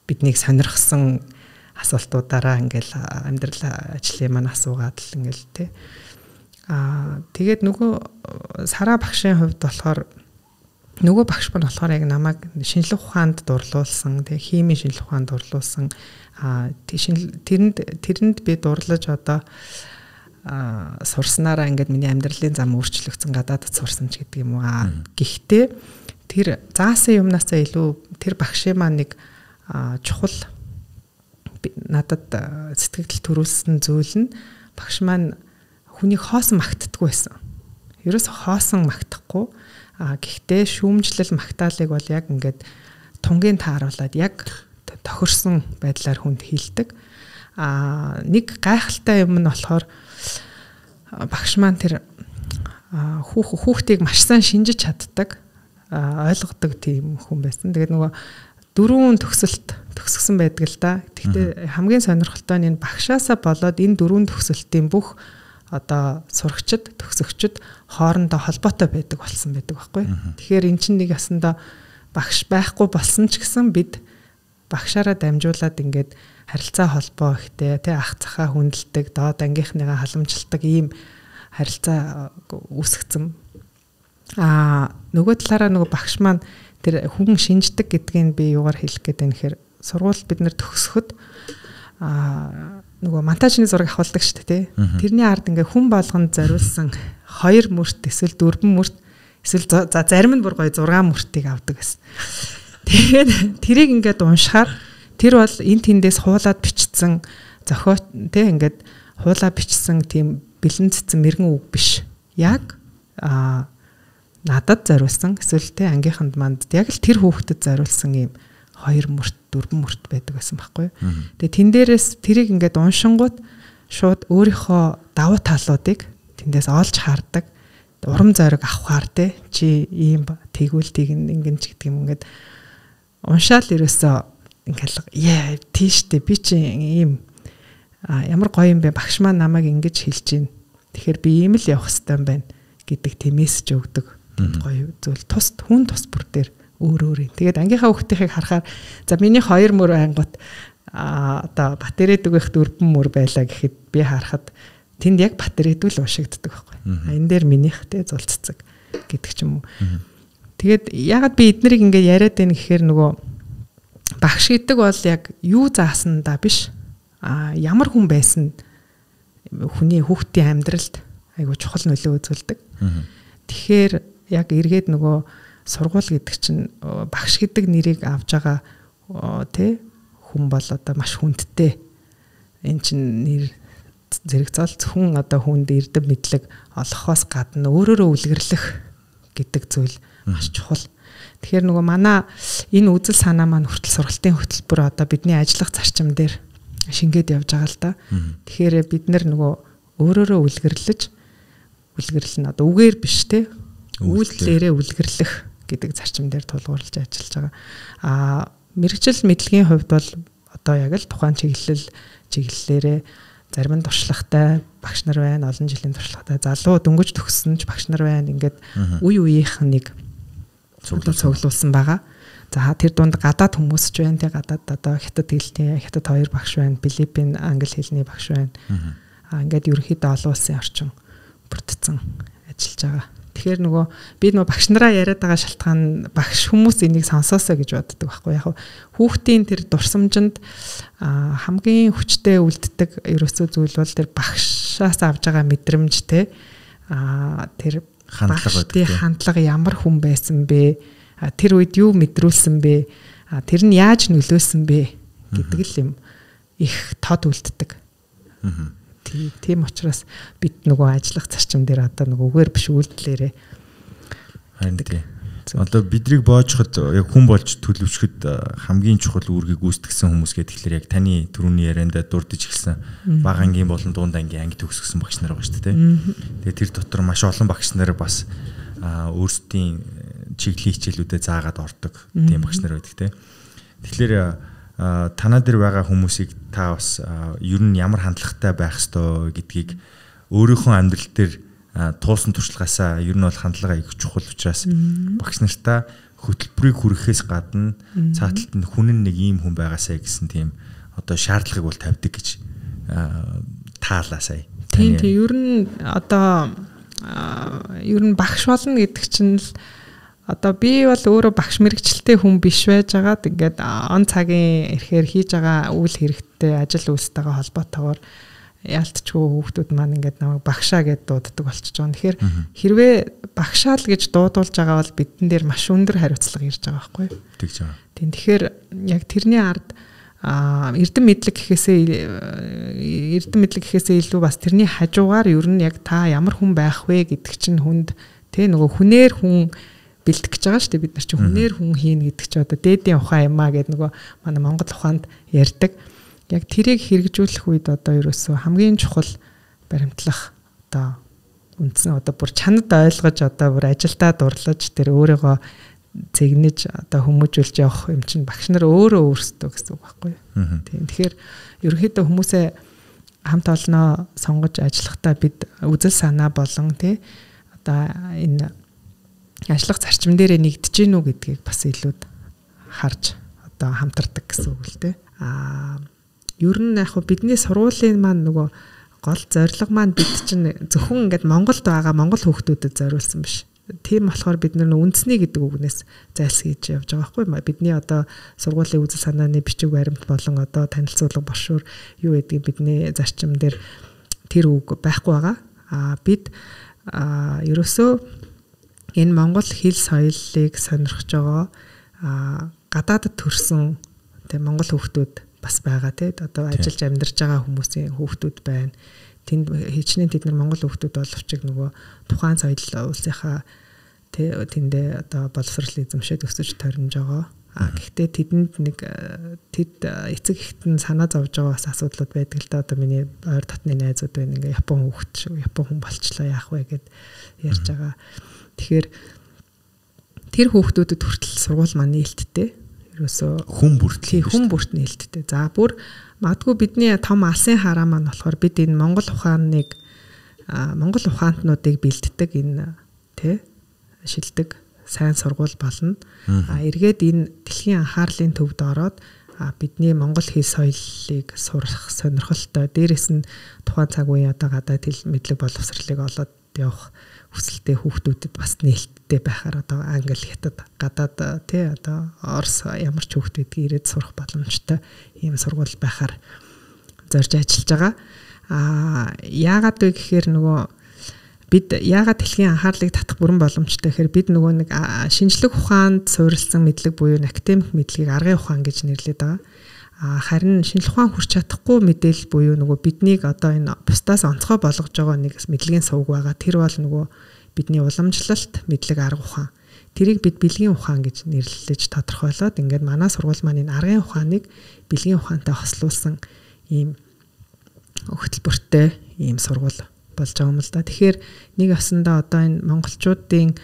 биднийг сонирхсон асуултуудаараа ингээл амьдрал ажлын маань асуугаад л ингээл тий. Тэгээд нөгөө Сара багшийн хувьд болохоор нөгөө багш маань болохоор яг намайг шинжлэх ухаанд дурлуулсан, тэг химийн шинжлэх ухаанд дурлуулсан. Тэрэнд би дурлаж одоо сурснараа ингээд миний амьдралын зам өөрчлөгдсөн, гадаадд сурсан ч гэдэг юм уу. Гэхдээ тэр заасан юмнасаа илүү тэр багшийн маань нэг чухал надад сэтгэл төрүүлсэн зүйл нь багш маань хүнийг хоосон магтдаггүй байсан. Ерөөс хоосон магтахгүй. Гэхдээ шүүмжлэл магтаалыг бол яг ингээд тунгийн тааруулаад яг тохирсон байдлаар хүнд хийлдэг. Нэг гайхалтай юм нь болохоор багш маань тэр хүүхдийг маш сайн шинжиж чаддаг, ойлгодог тийм хүн байсан. Тэгээд нөгөө 4 төгсгсөн байдаг л да. Гэхдээ хамгийн сонирхолтой нь энэ багшаасаа болоод энэ 4 төгсөлтийн бүх одоо сурагчид, төгсөгчд хоорондоо холбоотой байдаг болсон байдаг байхгүй. Тэгэхээр эн чинь нэг ясандаа багш байхгүй болсон ч гэсэн бид багшаараа дамжуулаад ингээд харилцаа холбоо ихтэй тий ах цахаа хүндэлдэг, доод ангийнхныгаа халамжилдаг ийм харилцаа үүсгэсэн. Нөгөө талаараа нөгөө багш маань тэр хүн шинждэг гэдгийг би юугаар хэлэх гээд байна гэхээр сургууль бид нэр төгсөхөд нөгөө монтажны зураг авахулдаг шүү дээ тий. Тэрний ард ингээ хүн болгонд зориулсан 2 мөрт эсвэл 4 мөрт эсвэл за зарим нь бүр гоё 6 мөртийг авдаг гэсэн. Тэгээд тэрийг ингээд уншихаар тэр бол эн тэндээс хуулаад бичсэн зохио тий ингээд хуулаа бичсэн тийм бэлэн цэцэн мэрэгэн үг биш. Яг надад зориулсан эсвэл тий ангийнханд манд яг л тэр хүүхдэд зориулсан юм 2 мөрт 4 мөрт байдаг байсан байхгүй. Тэгээ тэн дээрээс тэрийг ингээд уншингууд шууд өөрийнхөө давуу талуудыг тэндээс олж хардаг. Урам зориг авахаар чи ийм тэгвэл ингэн ч гэдэг юм ингээд уншаал ерөөсөө ингээд тийштэй би чи ийм ямар гоё юм бэ багш маань намайг ингэж хэлж гин. Тэгэхээр би ийм л явах хэрэгтэй юм байна гэдэг тийм мессеж өгдөг. Гоё зүйл тус бүр дээр өөр. Тэгээд ангийнхаа хүүхдийнхийг харахаар за миний 2 мөр ангууд одоо батарей дөгөх 4 мөр байлаа гэхэд би харахад тэнд яг батарейд л уншигддаг байхгүй. Энэ дээр минийх те зулццэг гэдэг ч юм уу. Тэгээд ягаад би эднэрийг ингээд яриад байна гэхээр нөгөө багш гэдэг бол яг юу заасандаа биш. Ямар хүн байсан хүний хүүхдийн амьдралд айгуу чухал нөлөө үзүүлдэг. Тэгэхээр яг эргээд нөгөө сургууль гэдэг чинь багш гэдэг нэрийг авж байгаа тий хүн бол одоо маш хүндтэй. Энд чинь нэр зэрэг зол зөвхөн одоо хүнд эрдэм мэдлэг олохоос гадна өөрөөрөө үлгэрлэх гэдэг зүйл маш чухал. Тэгэхээр нөгөө манай энэ үзэл санаа маань хүртэл сургалтын хөтөлбөр одоо бидний ажиллах зарчим дээр шингээд явж байгаа л да. Тэгэхээр бид нөгөө өөрөөрөө үлгэрлэн одоо үгээр биш те үйлдэлээрээ үлгэрлэх гэдэг зарчим дээр тулгуурлаж ажиллаж байгаа. Мэргэжил мэдлэгийн хувьд бол одоо яг л тухайн чиглэлээрээ зарим нь туршлагатай багш нар байна, олон жилийн туршлагатай залуу дөнгөж төгссөн ч багш нар байна. Ингээд үе үеийнх нэг цуглуулсан байгаа. За тэр дунд гадаад хүмүүс ч байна. Тэг гадаад одоо хятад хэлний хятад 2 багш байна, Филиппин англи хэлний багш байна. Ингээд ерөнхийдөө олон улсын орчин бүрдсэн ажиллаж байгаа. Тэгэхээр нөгөө би багш нараа яриад байгаа шалтгаан багш хүмүүс энийг сонсоосоо гэж боддог байхгүй. Яг хүүхдийн тэр дурсамжинд хамгийн хүчтэй үлддэг ерөөсөө зүйл бол тэр багшаас авж байгаа мэдрэмжтэй тэр хандлага ямар хүн байсан бэ? Тэр үед юу мэдрүүлсэн бэ? Тэр нь яаж нөлөөсөн бэ гэдэг л юм их тод үлддэг. Тийм учраас бид нөгөө ажиллах зарчим дээр одоо нөгөөгээр биш үйлдэлээрээ харин тийм. Одоо бидрийг боожоход яг хүн болж төлөвшөхөд хамгийн чухал үүргийг гүйцэтгсэн хүмүүс гэдэг тэгэхээр яг таны түрүүний ярианда дурдж эхэлсэн бага ангийн болон дунд ангийн анги төгсгсөн багш нар байгаа шүү дээ. Тэгээ тэр дотор маш олон багш нар бас өөрсдийн чиглэлийн хичээлүүдэд заагаад ордог тийм багш нар байдаг те. Тэгэхээр танаа дээр байгаа хүмүүсийг та бас ер нь ямар хандлагатай байх ёстой гэдгийг өөрийнхөө амьдрал дээр туулсан туршлагаасаа ер нь бол хандлага их чухал учраас багш нартаа хөтөлбөрийг хүргэхээс гадна цааталт нь хүн нэг ийм хүн байгаасаа гэсэн тийм одоо шаардлагыг бол тавьдаг гэж таалаа сая. Тийм ер нь одоо ер нь багш болно гэдэг чинь л одоо би бол өөрөө багш мэрэгчлээ хүн биш байж байгаад ингээд он цагийн ирэхээр хийж байгаа үйл хэрэгтээ ажил үйлстэйгээ холбоотойгоор яалтчгүй хүүхдүүд маань ингээд намайг багшаа гэд дууддаг болчихж байгаа. Тэгэхээр хэрвээ багшаа л гэж дуудуулж байгаа бол бидэн дээр маш өндөр хариуцлага ирж байгаа байхгүй юу? Тэгж байгаа. Тийм тэгэхээр яг тэрний ард эрдэм мэдлэг гэхээсээ илүү бас тэрний хажуугаар ер нь яг та ямар хүн байх вэ гэдэг чинь хүнд тэ нөгөө хүнээр хүн бэлтгэж гэж байгаа шүү дээ. Бид нар чинь хүнээр хүн хийнэ гэдэг чинь одоо дээдийн ухаан юм а гэдэг нөгөө манай Монгол ухаанд ярьдаг. Яг тэрийг хэрэгжүүлэх үед одоо ерөөсөө хамгийн чухал баримтлах одоо үндсэн одоо бүр чанад ойлгож одоо бүр ажилдаа дурлаж тэр өөрийгөө цэгнэж одоо хүмүүжүүлж явах юм чинь багш нар өөрөө өөрсдөө гэсэн үг байхгүй юу. Тийм. Тэгэхээр ерөнхийдөө хүмүүсээ хамт олноо сонгож ажиллахдаа бид үзэл санаа болон тий одоо энэ ажиллах зарчим дээрээ нэгдэж гинүү гэдгийг бас илүүд харж одоо хамтардаг гэсэн үг л тий. Ер нь яг бидний сургуулийн маань нөгөө гол зорилго маань бид чинь зөвхөн ингээд Монголд байгаа монгол хүүхдүүдэд зориулсан биш. Тийм болохоор бид нар үндэсний гэдэг үгнээс зайлсхийж явж байгаа байхгүй юу? Бидний одоо сургуулийн үзэл санааны бичиг баримт болон одоо танилцуулга бошуур юу гэдгийг бидний зарчим дээр тэр үг байхгүй байгаа. Бид ерөөсөө энэ монгол хэл соёлыг сонирхож байгаа гадаадд төрсэн тийм монгол хүүхдүүд бас байгаа тийм одоо ажиллаж амьдарч байгаа хүмүүсийн хүүхдүүд байна. Тэнд хичнээн тэд нар монгол хүүхдүүд боловч нөгөө тухайн соёл улсынхаа тэндээ одоо боловсрол эзэмшээд өсөж тойрнож байгаа. Гэхдээ тэдэнд нэг тэд эцэг эхтэн санаа зовж байгаа бас асуудлууд байдаг л да. Одоо миний ойр дотны найзууд байна. Ингээ Япон хүн болчлоо яах вэ гэд ярьж байгаа. Тэгэхээр тэр хүүхдүүдэд хүртэл сургууль маань нээлттэй. Ерөөсөө хүн бүрт нээлттэй. За бүр магадгүй бидний том алсын хараа маань болохоор бид энэ монгол ухаантнуудыг бэлддэг энэ тий шилдэг сайн сургууль болно. Эргээд энэ дэлхийн анхаарлын төвд ороод бидний монгол хэл соёлыг сурах сонирхолтой. Дээрээс нь тухайн цаг үеийн одоо гадаад хэл мэдлэг боловсролыг олоод явах хүсэлтэй хүүхдүүдэд бас нээлттэй байхаар одоо англи, хятад, гадаад тий одоо орос ямар ч хүүхдүүд ирээд сурах боломжтой ийм сургууль байхаар зорж ажиллаж байгаа. Яагаад вэ гэхээр нөгөө бид яагаад дэлхийн анхаарлыг татах бүрэн боломжтой гэхээр бид нөгөө нэг шинжлэх ухаанд суурилсан мэдлэг буюу академик мэдлэгийг аргын ухаан гэж нэрлэдэг байгаа. Харин шинжлэх ухаан хүрч чадахгүй мэдээлэл буюу нөгөө биднийг одоо энэ бусдаас онцгой болгож байгаа нэг мэдлэгийн сувг байгаа. Тэр бол нөгөө бидний уламжлалт мэдлэг арга ухаан. Тэрийг бид бэлгийн ухаан гэж нэрлэж тодорхойлоод ингээд манай сургууль маань энэ аргын ухааныг бэлгийн ухаантай хослуулсан ийм хөтөлбөртэй ийм сургууль болж байгаа юм л да. Тэгэхээр нэг осондоо одоо энэ монголчуудын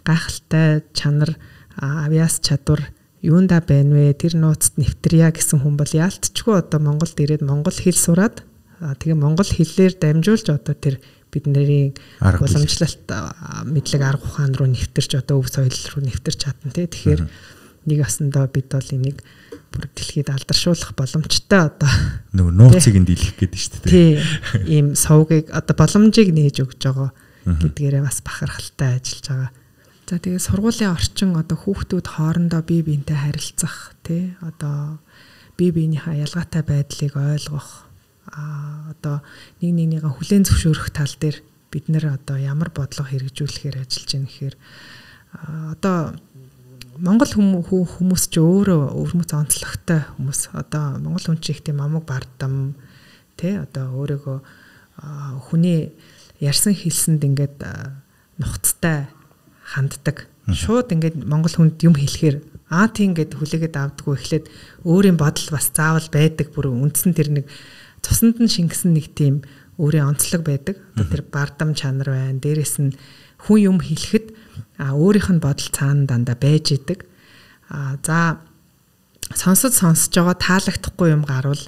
гайхалтай чанар, авиас чадвар юунда байна вэ? Тэр нууцд нэвтрья гэсэн хүн бол яалтчгүй одоо Монголд ирээд монгол хэл сураад тэгээ монгол хэлээр дамжуулж одоо тэр бидний уламжлалт мэдлэг арга ухаан руу нэвтэрч одоо өв соёл руу нэвтэрч чадна тий. Тэгэхээр нэг осондоо бид бол энийг бүр дэлхийд алдаршуулах боломжтой одоо нөгөө нууцыг нь дийлэх гэдэг шүү дээ. Тий. Ийм сувгийг одоо боломжийг нээж өгж байгаа гэдгээрээ бас бахархалтай ажиллаж байгаа. За тэгээ сургуулийн орчин одоо хүүхдүүд хоорондоо бие биентэй харилцах тий одоо бие биенийхээ ялгаатай байдлыг ойлгох одоо нэг нэгнийгээ хүлээн зөвшөөрөх тал дээр бид нэр одоо ямар бодлого хэрэгжүүлэхээр ажиллаж байна гэхээр одоо Монгол хүмүүс ч өөрөө өвөрмөц онцлогтой хүмүүс. Одоо Монгол хүн чинь их тийм амаг бардам тий одоо өөрийгөө хүний ярьсан хэлсэнд ингээд нухацтай ханддаг. Шууд ингээд монгол хүнд юм хэлэхээр тийм ингээд хүлээгээд авдаггүй эхлээд өөрийн бодол бас заавал байдаг. Бүр үндсэн тэр нэг цуснд нь шингэсэн нэг тийм өөрийн онцлог байдаг. Тэр бардам чанар байна. Дээрээс нь хүн юм хэлэхэд өөрийнх нь бодол цаана дандаа байж идэг. За сонсож байгаа таалагдахгүй юм гарвал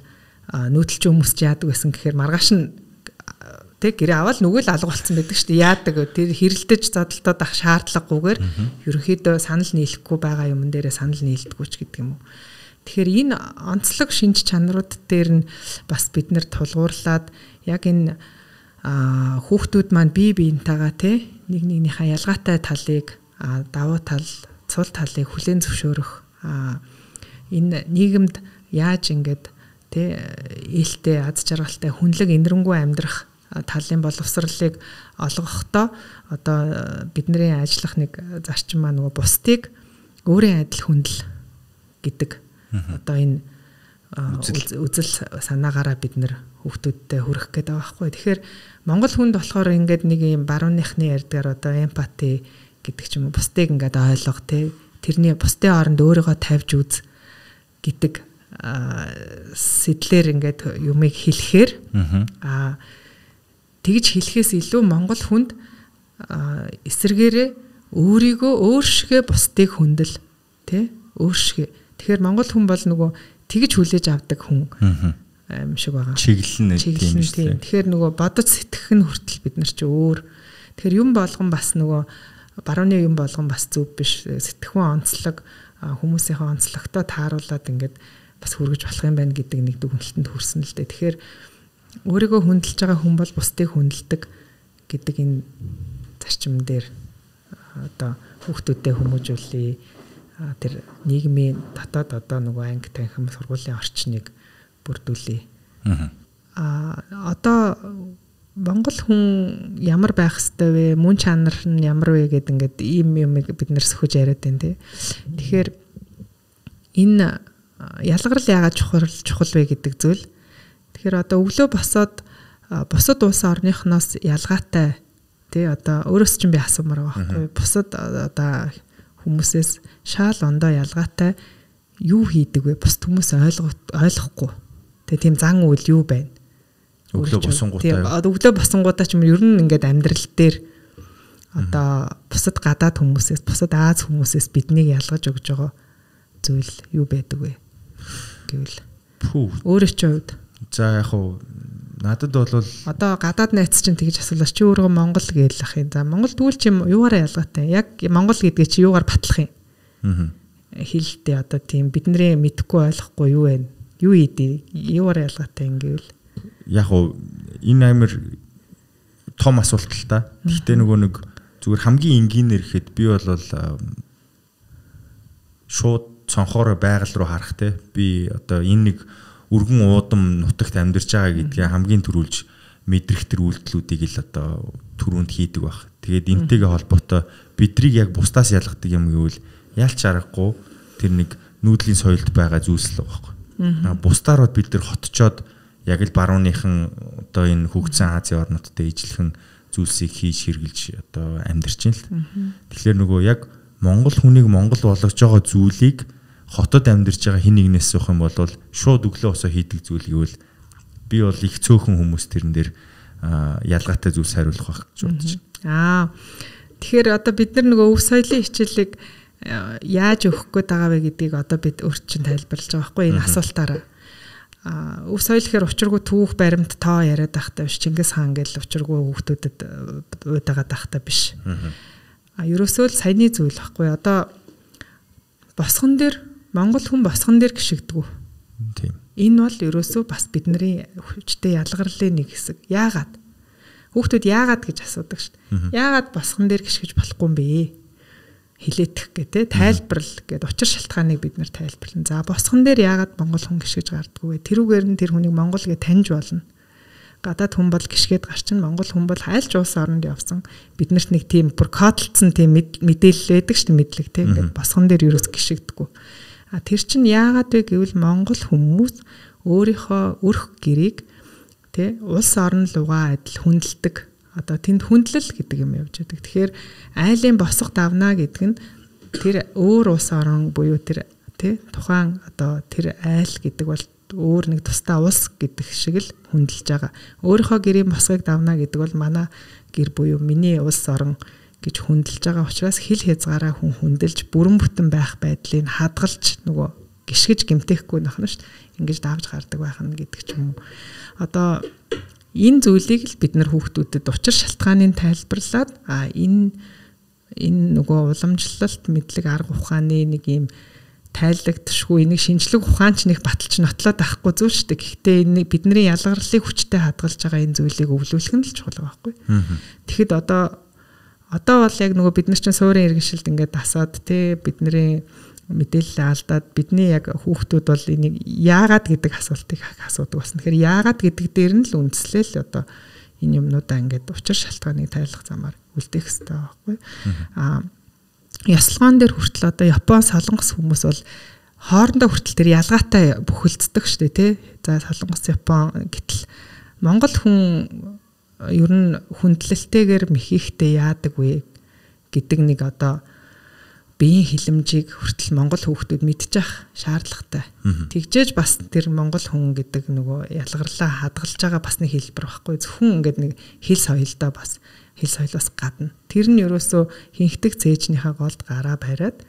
нүүдэлч хүмүүс ч яадаг байсан гэхээр маргааш нь тэг гэрээ аваад нүгэл алга болсон байдаг шүү дээ. Яадаг тэр хэрэлдэж зодолтоод ах шаардлагагүйгээр ерөнхийдөө санал нийлэхгүй байгаа юмн дээрээ санал нийлдэггүй ч гэдэг юм уу. Тэгэхээр энэ онцлог шинж чанарууд дээр нь бас бид нэр тулгуурлаад яг энэ хүүхдүүд маань бие биентэйгээ те нэг нэгнийхээ ялгаатай талыг давуу тал, цул талыг хүлээн зөвшөөрөх энэ нийгэмд яаж ингээд те ээлтэй аз жаргалтай хүнлэг инэрэнгүй амьдрах талын боловсролыг олгохдоо одоо бидний ажиллах нэг зарчим маань нөгөө бусдыг өөрийн адил хүндэл гэдэг одоо энэ үзэл санаагаараа бид нэр хүүхдүүдтэй хүрэх гээд байгаа байхгүй. Тэгэхээр монгол хүнд болохоор ингээд нэг юм барууныхны ярьдгаар одоо эмпати гэдэг ч юм уу бусдыг ингээд ойлго те тэрний бусдын оронд өөрийгөө тавьж үз гэдэг сэтлэр ингээд юмыг хэлэхээр тэгж хэлэхээс илүү монгол хүнд эсэргээрээ өөрийгөө өөршгөө бусдыг хүндэл тий өөршгөө. Тэгэхээр монгол хүн бол нөгөө тэгж хүлээж авдаг хүн юм шиг байгаа. Чиглэн тийм шүү дээ. Тэгэхээр нөгөө бодож сэтгэх нь хүртэл бид нар чи өөр. Тэгэхээр юм болгон бас нөгөө барууны юм болгон бас зөв биш. Сэтгэхүйн онцлог хүмүүсийнхээ онцлогтой тааруулаад ингээд бас хүргэж болох юм байна гэдэг нэг дүгнэлтэнд хүрсэн л дээ. Тэгэхээр өөрийгөө хүндэлж байгаа хүн бол бусдыг хүндэлдэг гэдэг энэ зарчим дээр одоо хүүхдүүдэд хүмүүжүүлээ. Тэр нийгмийн дотоод одоо нөгөө анги танхим сургуулийн орчныг бүрдүүлээ. Одоо монгол хүн ямар байх ёстой вэ? Мөн чанар нь ямар вэ гэдэг ингээд ийм юмыг бид нэр сөхөж яриад байна тий. Тэгэхээр энэ ялгарл яагаад чухал вэ гэдэг зүйл. Тэгэхээр одоо өглөө босоод бусад улс орныхноос ялгаатай тий одоо өөрөөс чинь би асуумаар байгаа байхгүй. Бусад одоо хүмүүсээс шаал ондоо ялгаатай юу хийдэг вэ? Бусд хүмүүс ойлгохгүй. Тэгээ тийм зан үйл юу байна? Өглөө босонгуудаа ч юм ер нь ингээд амьдрал дээр одоо бусад гадаад хүмүүсээс бусад Аз хүмүүсээс биднийг ялгаж өгж байгаа зүйл юу байдаг вэ гэвэл өөрөө ч хувьд за яг хуу надад бол одоо гадаад найз чинь тэгж асуулаач чи өөрөө Монгол гээл ах юм. За Монгол тэгвэл чи юугаараа ялгаатай? Яг Монгол гэдгээ чи юугаар батлах юм? Хэлэлтээ одоо тийм бидний мэдхгүй ойлгохгүй юу вэ? Юу ийдээ? Юугаараа ялгаатай ингээл яг хуу энэ амир том асуулт л та. Гэхдээ нөгөө нэг зүгээр хамгийн энгийнээр ихэд би бол шууд цонхоор байгаль руу харах те би одоо энэ нэг өргөн уудам нутагт амьдарч байгаа гэдгээ хамгийн түрүүлж мэдрэх төр үйлдэлүүдийг л одоо түрүүнд хийдэг баг. Тэгээд энтэйгээ холбоотой бидрийг яг бусдаас ялгадаг юм гэвэл ялч аргагүй тэр нэг нүүдлийн соёлд байгаа зүйлс л байгаа. Бусдаар бид нар хотчоод яг л барууныхан одоо энэ хөгжсөн Азийн орнуудтай ижилхэн зүйлсийг хийж хэрглэж одоо амьдарч байна л. Тэгэхээр нөгөө яг монгол хүнийг монгол болгож байгаа зүйлийг хотод амьдарч байгаа хин нэгнээс суух юм бол шууд өглөө босоо хийдэг зүйл гэвэл би бол их цөөхөн хүмүүс тэрэн дээр ялгаатай зүйлс хариулах байх гэж бодож байна. Тэгэхээр одоо бид нар нөгөө өв соёлын хичээлийг яаж өгөх гээд байгаа вэ гэдгийг одоо бид өөрт чинь тайлбарлаж байгаа байхгүй энэ асуултаараа. Өв соёл гэхээр учиргүй түүх баримт тоо яриад байхтай биш. Чингис хаан гэл учиргүй хүүхдүүдэд уйдагаад байхтай биш. Ерөөсөө л саяны зүйл байхгүй. Одоо босгон дээр монгол хүн босгон дээр гიშгдэггүй. Тийм. Энэ бол ерөөсөө бас бидний хүчтэй ялгарлын нэг хэсэг. Яагаад? Хүүхдүүд яагаад гэж асуудаг шүү дээ. Яагаад босгон дээр гიშгэж болохгүй юм бэ? Хилээдэх гэдэг тайлбарл гэдэг учир шалтгааныг бид нэр тайлбарлана. За босгон дээр яагаад монгол хүн гიშгэж гардггүй вэ? Тэрүүгээр нь тэр хүнийг монгол гэж таньж болно. гадаад хүн бол гიშгээд гарчин Монгол хүн бол хайлж улс оронд явсан биднэрт нэг тийм бүр кодлцсон тийм мэдээлэл байдаг шүү дээ мэдлэг тийм ингээд босгон дээр юус гიშгдэггүй. Тэр чинь яагаад вэ гэвэл Монгол хүмүүс өөрийнхөө өрх гэрийг тий улс орон лугаа адил хүндэлдэг. Одоо тэнд хүндлэл гэдэг юм явж байдаг. Тэгэхээр айлын босго давна гэдэг нь тэр өөр улс орон буюу тэр тий тухайн одоо тэр айл гэдэг бол өөр нэг тусдаа улс гэдэг шиг л хүндэлж байгаа. Өөрийнхөө гэрийн босгыг давна гэдэг бол манай гэр буюу миний улс орон гэж хүндэлж байгаа учраас хил хязгаараа хүн хүндэлж бүрэн бүтэн байх байдлыг хадгалж нөгөө гიშгэж гэмтээхгүй нөхнө шүү дээ. Ингэж давж гардаг байх нь гэдэг ч юм уу. Одоо энэ зүйлийг л бид нар хүүхдүүдэд учир шалтгааныг тайлбарлаад энэ нөгөө уламжлалт мэдлэг арга ухааны нэг юм тайлагдшгүй энийг шинжлэх ухаанч нэг баталж нотлоод авахгүй зүйл шүү дээ. Гэхдээ энэ бидний ялгарлыг хүчтэй хадгалж байгаа энэ зүйлийг өвлүүлэх нь л чухал байхгүй. Тэгэхэд одоо бол яг нөгөө бид нар чинь суурин иргэншилд ингээд дасаад тий бидний мэдээлэл алдаад бидний яг хүүхдүүд бол энийг яагаад гэдэг асуултыг асуудаг болсон. Тэгэхээр яагаад гэдэг дээр нь л үндэслэл одоо энэ юмнуудаа ингээд учир шалтгааныг тайлах замаар үлдээх хэрэгтэй байхгүй. Ясалгаан дээр хүртэл одоо Япон солонгос хүмүүс бол хоорондоо хүртэл тэр ялгаатай бүхэлддэг шүү дээ тий. За солонгос Япон гэтэл Монгол хүн ер нь хүндлэлтэйгээр мэхийхтэй яадаг вэ гэдэг нэг одоо биеийн хилэмжийг хүртэл монгол хүүхдүүд мэдчих шаардлагатай. Тэгжээж бас тэр монгол хүн гэдэг нөгөө ялгарлаа хадгалж байгаа бас нэг хэлбэр байхгүй. Зөвхөн ингээд нэг хэл соёлдоо бас хэл соёлоос гадна. Тэр нь ерөөсөө хинхдэг цээжнийхээ голд гараа бариад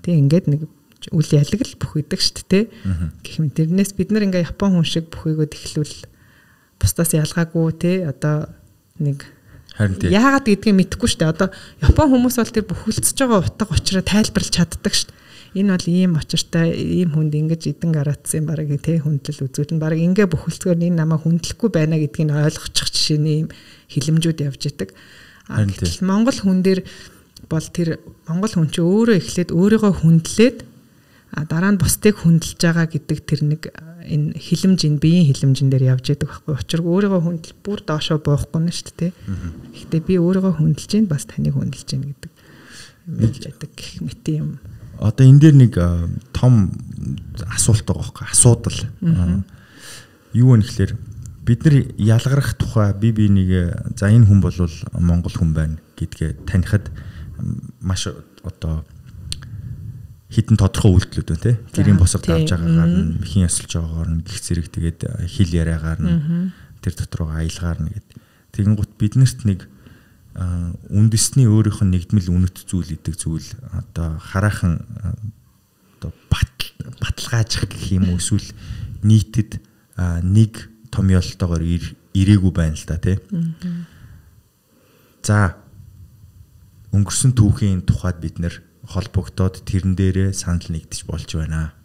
тэг ингээд нэг үл ялаг л бүхийдэг шүү дээ. Гэх мэт тэрнээс бид нар ингээд Япон хүн шиг бүхийгөө тэхлүүл бусдаас ялгаагүй те одоо нэг яагаад гэдгийг мэдэхгүй шүү дээ. Одоо Япон хүмүүс бол тэр бүхэлдсэж байгаа утга учраа тайлбарлаж чаддаг шүү дээ. Энэ бол ийм очиртай, ийм хүнд ингэж идэн гараадсан бараг тий хүндлэл үзүүлэн бараг ингээ бүхэлдсээр энэ намайг хүндлэхгүй байна гэдгийг ойлгочих жишээний ийм хилэмжүүд явж идэг. Гэтэл Монгол хүн дээр бол тэр Монгол хүн чи өөрөө эхлээд өөрийгөө хүндлээд дараа нь бусдыг хүндэлж байгаа гэдэг тэр нэг энэ хилэмж энэ биеийн хилэмжэн дээр явж идэг байхгүй. Учир өөрийгөө хүндэл бүр доошоо буухгүй нь шүү дээ. Гэхдээ би өөрийгөө хүндэлж гин бас таныг хүндэлж гин гэдэг юм явж идэг гэх мэт юм. Одоо энэ дээр нэг том асуулт байгаа байхгүй. Асуудал. Юу вэ гэхээр бид нар ялгарах тухай би нэг за энэ хүн бол Монгол хүн байна гэдгээ танихад маш одоо хитэн тодорхой үйлдэлүүд байна тий. Гэрийн босго давж байгаагаар нь, мөхийн ясалж байгаагаар нь, гих зэрэг тэгээд хил яриагаар нь тэр дотор аялгаар нь гэдэг. Тэгэнгუთ биднэрт нэг үндэсний өөрийнх нь нэгдмэл үнэт зүйл идэг зүйл одоо хараахан одоо баталгаажих гэх юм уу эсвэл нийтэд нэг том ёолтойгоор ирээгүй байна л да тий. За өнгөрсөн түүхийн тухайд бид нэр холбогдоод тэрэн дээрээ санал нэгдэж болж байна.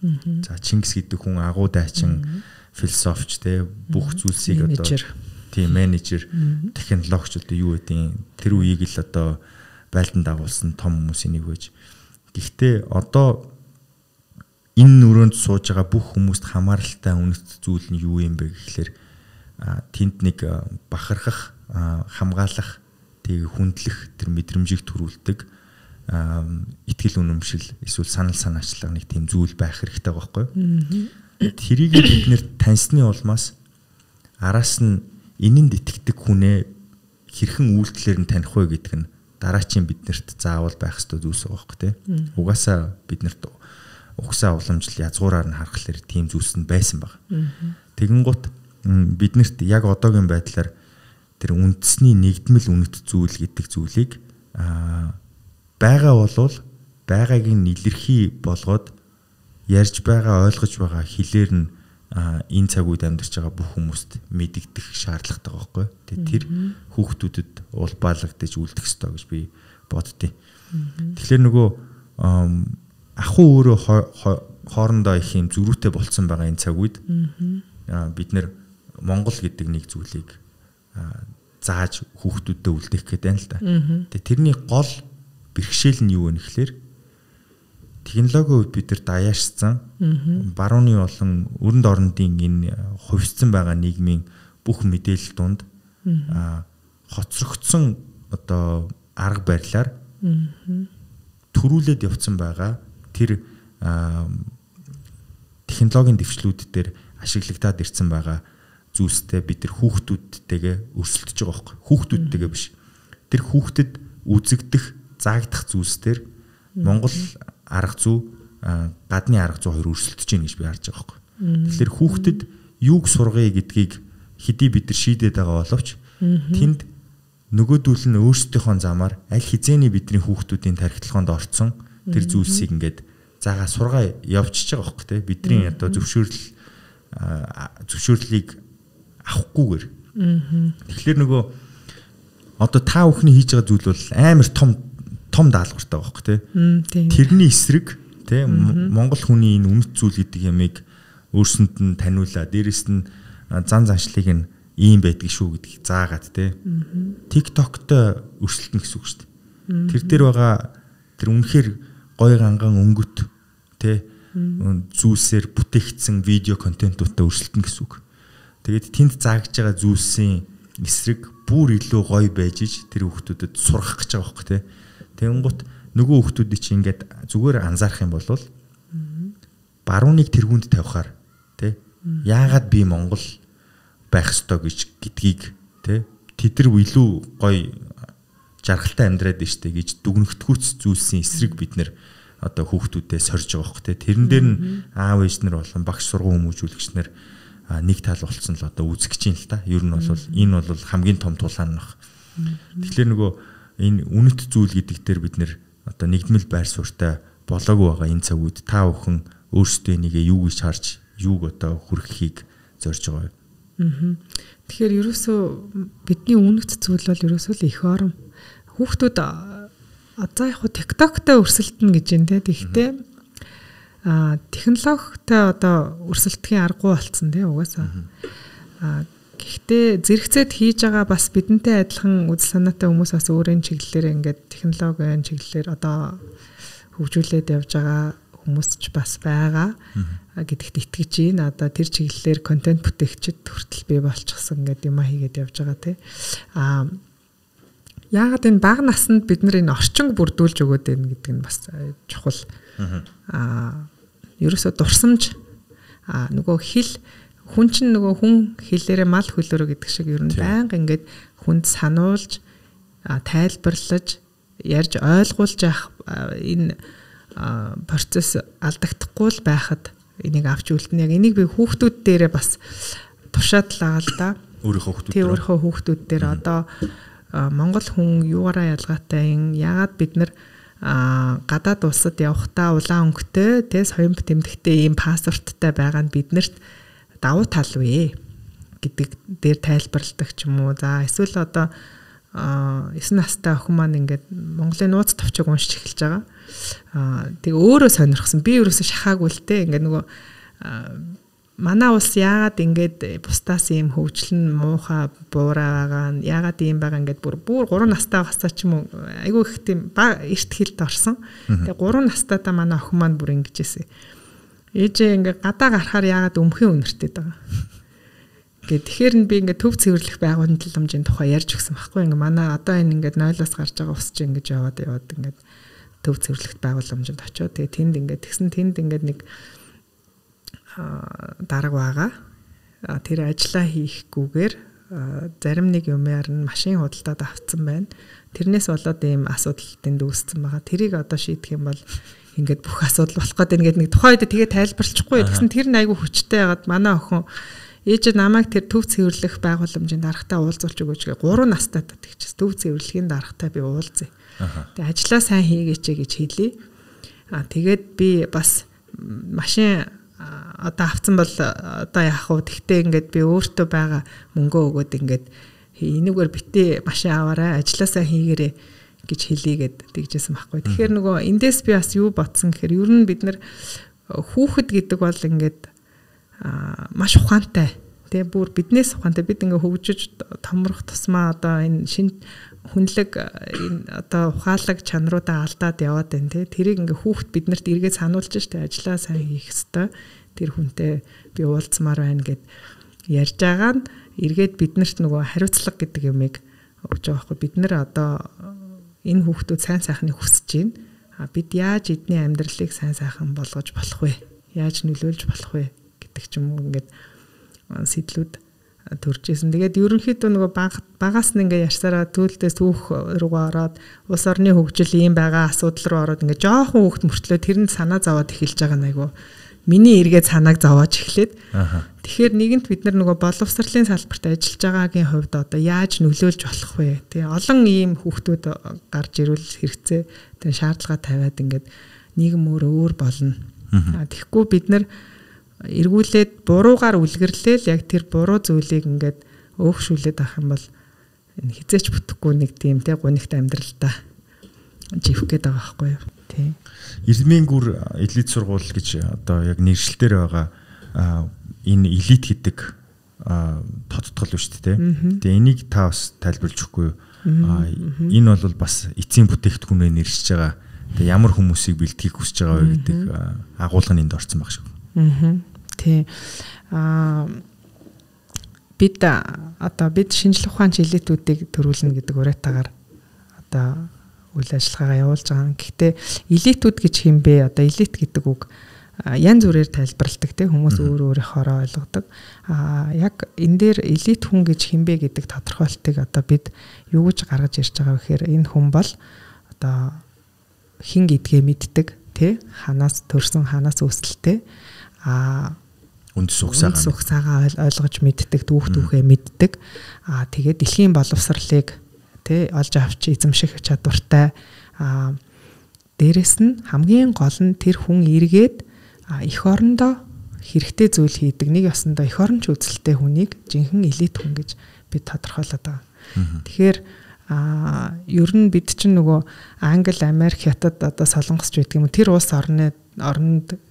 За Чингис гэдэг хүн агуу дайчин философч те бүх зүйлсийг одоо тийм менежер технологич одоо юу гэдэг тэр үеийг л одоо байлдан дагуулсан том хүмүүсийн нэг байж. Гэхдээ одоо энэ өрөөнд сууж байгаа бүх хүмүүст хамааралтай үнэт зүйл нь юу юм бэ гэхлээр тэнд нэг бахархах, хамгаалах, тэг хүндлэх тэр мэдрэмжийг төрүүлдэг итгэл үнэмшил эсвэл санал санаачлага нэг тийм зүйл байх хэрэгтэй байхгүй юу? Тэрийг бид нэр таньсны улмаас араас нь энэнд итгэдэг хүнээ хэрхэн үйлдэлээр нь таних вэ гэдэг нь дараачийн биднэрт заавал байх ёстой зүйлс байгаа байхгүй тий. Угаасаа биднэрт угсаа уламжлал язгуураар нь харахаар тийм зүйлс нь байсан баг. Тэгэнгუთ биднэрт яг одоогийн байдлаар тэр үндэсний нэгдмэл үнэт зүйл гэдэг зүйлийг байгаа болвол байгааг нь илэрхий болгоод ярьж байгаа ойлгож байгаа хэлээр нь энэ цаг үед амьдарч байгаа бүх хүмүүст мэдэгдэх шаардлагатай байхгүй. Тэгээ тэр хүүхдүүдэд улбаалагдаж үлдэх ёстой гэж би боддیں۔ Тэгэхээр нөгөө ахуй өөрөө хоорондоо их юм зөрүүтэй болцсон байгаа энэ цаг үед бид нэр Монгол гэдэг нэг зүйлийг зааж хүүхдүүдэд үлдээх гэдэг юм л да. Тэгээ тэрний гол бэрхшээл нь юу вэ гэхээр технологийн үед бид нар даяаршсан барууны болон өрөнд орнодын энэ хувьсцсан байгаа нийгмийн бүх мэдээлэл донд хоцрогдсон одоо арга барилаар төрүүлээд явцсан байгаа тэр технологийн дэвшлүүд дээр ашиглагдаад ирсэн байгаа зүйлстэй бид тэр хүүхдүүдтэйгээ өрсөлдөж байгаа байхгүй. Хүүхдүүдтэйгээ биш. Тэр хүүхдэд үзэгдэх, заагдах зүйлсээр Монгол арга зүй, гадны арга зүй хоёр өрсөлдөж байна гэж би харж байгаа байхгүй. Тэгэхээр хүүхдэд юуг сургая гэдгийг хэдий бид нар шийдээд байгаа боловч тэнд нөгөөдүүл нь өөрсдийнхөө замаар аль хизээний бидний хүүхдүүдийн тархитлагоонд орцсон тэр зүйлсийг ингээд заагаа сургаа явчихж байгаа байхгүй те бидний одоо зөвшөөрлийг авахгүйгээр. Тэгэхээр нөгөө одоо та бүхний хийж байгаа зүйл бол амар том даалгавартай байхгүй те. Тэрний эсрэг те Монгол хүний энэ үнэт зүйл гэдэг ямыг өөрсөнд нь таниулаа. Дээрэс нь зан заншлыг нь ийм байдаг шүү гэдгийг заагаад те. TikTok-той өрсөлдөн гэсэн үг шүү дээ. Тэр дээр байгаа тэр үнэхээр гой ганган өнгөт те зүйлсээр бүтээгдсэн видео контентуудтай өрсөлдөн гэсэн үг. Тэгээд тэнд заагдж байгаа зүйлсийн эсрэг бүр илүү гоё байж иж тэр хүүхдүүдэд сурах гэж байгаа байхгүй те. Тэгэнгუთ нөгөө хүүхдүүдийг чи ингээд зүгээр анзаарах юм бол барууныг тэргүүнд тавихаар те яагаад би Монгол байх ёстой гэдгийг те тэд нар илүү гоё жаргалтай амьдраад штэ гэж дүгнэгдэхүйц зүйлсийн эсрэг бид нэр одоо хүүхдүүдэд сорж байгаа байхгүй те. Тэрэн дээр нь аав ээж нар болон багш сургууль хүмүүжүүлэгч нар нэг тал болцсон л одоо үзэж чинь л та. Ер нь бол энэ бол хамгийн том тулаан нөх. Тэгэхээр нөгөө энэ үнэт зүйл гэдэг дээр бид нэр одоо нэгдмэл байр суурьтай болоогүй байгаа энэ цаг үед та бүхэн өөрсдөө нэгээ юу гэж харж юуг одоо хүргэхийг зорж байгаа юм. Тэгэхээр ерөөсөө бидний үнэт зүйл бол ерөөсөө л их орон. Хүүхдүүд за яг TikTok-тай өрсөлдөнө гэж юм те. Тэгэхдээ технологитой одоо өрсөлдөхийн аргагүй болцсон те угаасаа. Гэхдээ зэрэгцээд хийж байгаа бас бидэнтэй адилхан үзэл санаатай хүмүүс бас өөрийн чиглэлээр ингээд технологийн чиглэлээр одоо хөгжүүлээд явж байгаа хүмүүс ч бас байгаа гэдэгт итгэж байна. Одоо тэр чиглэлээр контент бүтээгчид хүртэл бий болчихсон гэдэг юм хийгээд явж байгаа те. Яагаад энэ бага наснд бид нар энэ орчинг бүрдүүлж өгөөд байна гэдэг нь бас чухал. Ерөөсөө дурсамж нөгөө хэл хүн чинь нөгөө хүн хэлээрээ мал хөлөөрөө гэдэг шиг ер нь байнга ингээд хүнд сануулж тайлбарлаж ярьж ойлгуулж явах энэ процесс алдагдахгүй л байхад энийг авч үлдэнэ. Яг энийг би хүүхдүүд дээрээ бас тушаад л байгаа л да. Өөрийнхөө хүүхдүүд дээр одоо Монгол хүн юугаараа ялгаатай юм? Яагаад бид нар гадаад улсад явахдаа улаан өнгөтэй тэ соён тэмдэгтэй ийм паспорттай байгаа нь биднэрт давуу тал вэ гэдэг дээр тайлбарладаг ч юм уу. За эсвэл одоо 9 настай охин маань ингээд Монголын нууц товчог уншиж эхэлж байгаа. Тэг өөрөө сонирхсан. Би ерөөсө шахаагүй л те. Ингээд нөгөө манай улс яагаад ингээд бусдаас ийм хөгжлөн муухай буураа байгаа нь яагаад ийм байгаа ингээд бүр 3 настай хасаа ч юм уу айгүй их тийм эрт хэлд орсон. Тэгээ 3 настайдаа манай охин маань бүр ингэжсэн. Ээжээ ингээд гадаа гарахаар яагаад өмхийн үнэртэй байгаа. Тэгэхээр би ингээд төв цэвэрлэх байгууламжийн тухай ярьж өгсөн байхгүй. Ингээд манай одоо энэ ингээд 0-аас гарч байгаа ус чинь ингээд яваад ингээд төв цэвэрлэх байгууламжинд очиод тэгээ тэнд ингээд нэг дарга байгаа. Тэр ажиллаа хийхгүйгээр зарим нэг юмар нь машин худалдаад авцсан байна. Тэрнээс болоод ийм асуудал тэнд үүссэн байгаа. Тэрийг одоо шийдэх юм бол ингээд бүх асуудал болох гэдэг ингээд нэг тухайд тэгээ тайлбарлахгүй. Тэгсэн тэр нь айгүй хүчтэй ягаад манай охин ээж намайг тэр төв цэвэрлэх байгууламжийн даргатай уулзуулж өгөөч гэ 3 настай тэгчихсэн. Төв цэвэрлэхийн даргатай би уулзъя. Тэгээ ажиллаа сайн хийгээч гэж хэлье. Тэгээд би бас машин одоо авцсан бол одоо яах вэ? Тэгтээ ингээд би өөртөө байгаа мөнгөө өгөөд ингээд энэгээр битээ машин аваарай, ажилласаа хийгээрэй гэж хэлийгээд тэгжсэн байхгүй. Тэгэхээр нөгөө эндээс би бас юу бодсон гэхээр ер нь бид нар хүүхэд гэдэг бол ингээд маш ухаантай. Тэгээ бүр биднээс ухаантай. Бид ингээд хөгжиж томрох тусмаа одоо энэ шинэ хүнлэг энэ одоо ухаалаг чанаруудаа алдаад яваад байна те. Тэрийг ингээд хүүхэд биднэрт эргээд сануулж штэ ажиллаа сайн хийх ёстой. Тэр хүнтэй би уулзмаар байна гэд ярьж байгаа нь эргээд биднэрт нөгөө хариуцлага гэдэг юмыг өгж байгаа байхгүй. Бид нар одоо энэ хүүхдүүд сайн сайхныг хүсэж байна. Бид яаж эдний амьдралыг сайн сайхан болгож болох вэ? Яаж нөлөөлж болох вэ гэдэг ч юм уу ингээд сэтлүүд төрж исэн. Тэгээд ерөнхийдөө нөгөө багаас нь ингээд ярьсараа төлдөөс түүх руугаа ороод улс орны хөгжил ийм байгаа асуудал руу ороод ингээд жоохон хүүхд мөртлөө тэрэнд санаа зовоод эхэлж байгаа нь айгу миний эргээд санааг зовоож эхлээд. Тэгэхээр нэгэнт бид нар нөгөө боловсролын салбарт ажиллаж байгаагийн хувьд одоо яаж нөлөөлж болох вэ? Тэгээ олон ийм хүүхдүүд гарч ирвэл хэрэгцээ тэгээ шаардлага тавиад ингээд нийгэм өөр болно. Тэгэхгүй бид нар эргүүлээд буруугаар үлгэрлээл яг тэр буруу зүйлийг ингээд өөгшүүлээд авах юм бол энэ хизээч бүтэхгүй нэг тийм те гунигт амьдралдаа живэх гээд байгаа байхгүй юу? Тий. Ирмийн гүр элит сургууль гэж одоо яг нэршилтээр байгаа энэ элит гэдэг тодтгол шүү дээ. Тэгээ энийг та бас тайлбарлаж өгөхгүй юу? Энэ бол бас эцсийн бүтээгдэхүүнээр нэршиж байгаа. Тэгээ ямар хүмүүсийг бэлтгэхийг хүсэж байгаа вэ гэдэг агуулга нь энд орсон баг шүү. Тий. Бид шинжлэх ухааны элитүүдийг төрүүлнэ гэдэг уриатаагаар одоо үйл ажиллагаагаа явуулж байгаа. Гэхдээ элитүүд гэж хэм бэ? Одоо элит гэдэг үг янз бүрээр тайлбарладаг те хүмүүс өөрийнхоороо ойлгодог. Яг энэ дээр элит хүн гэж хэм бэ гэдэг тодорхойлтыг одоо бид юу гэж гаргаж ирж байгаа вэ гэхээр энэ хүн бол одоо хин гэдгээ мэддэг те ханаас төрсөн ханаас үүсэлтэй үндэс ухсаагаа ойлгож мэддэг түүхээ мэддэг. Тэгээд дэлхийн боловсролыг олж авч эзэмших чадвартай. Дээрэс нь хамгийн гол нь тэр хүн эргээд эх орондоо хэрэгтэй зүйл хийдэг. Нэг ёсондоо эх оронч үзэлтэй хүнийг жинхэнэ элит хүн гэж бид тодорхойлоод байгаа. Тэгэхээр ер нь бид чинь нөгөө Англи, Америк, Хятад одоо Солонгосч гэдэг юм. Тэр улс оронд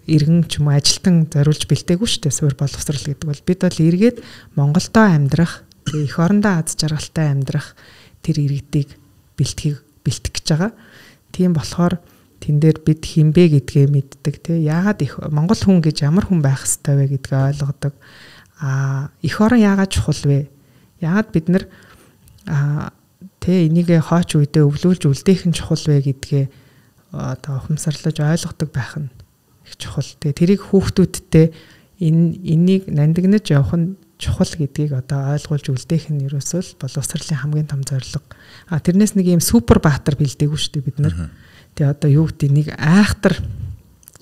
иргэн ч юм уу ажилтан зориулж бэлдээгүй шүү дээ. Суурь боловсрал гэдэг бол бид бол эргээд Монголдоо амьдрах, эх орондоо аз жаргалтай амьдрах тэр иргэдийг бэлтгэх гэж байгаа. Тийм болохоор тэн дээр бид хинбэ гэдгээ мэддэг тий. Яагаад их Монгол хүн гэж ямар хүн байх ёстой вэ гэдгээ ойлгодог. Эх орон яагаад чухал вэ? Яагаад бид нар энийг хооч үедээ өвлүүлж үлдээх нь чухал вэ гэдгээ одоо ухамсарлаж ойлгодог байх нь их чухал. Тэгээ тэрийг хүүхдүүдтэй энийг нандинаж явах нь чухал гэдгийг одоо ойлгуулж үлдээх нь ерөөсөө боловсролын хамгийн том зорилго. Тэрнээс нэг юм супер баатар бэлдээгүй шүү дээ бид нар. Тэгээ одоо юу гэдэг нэг айхтар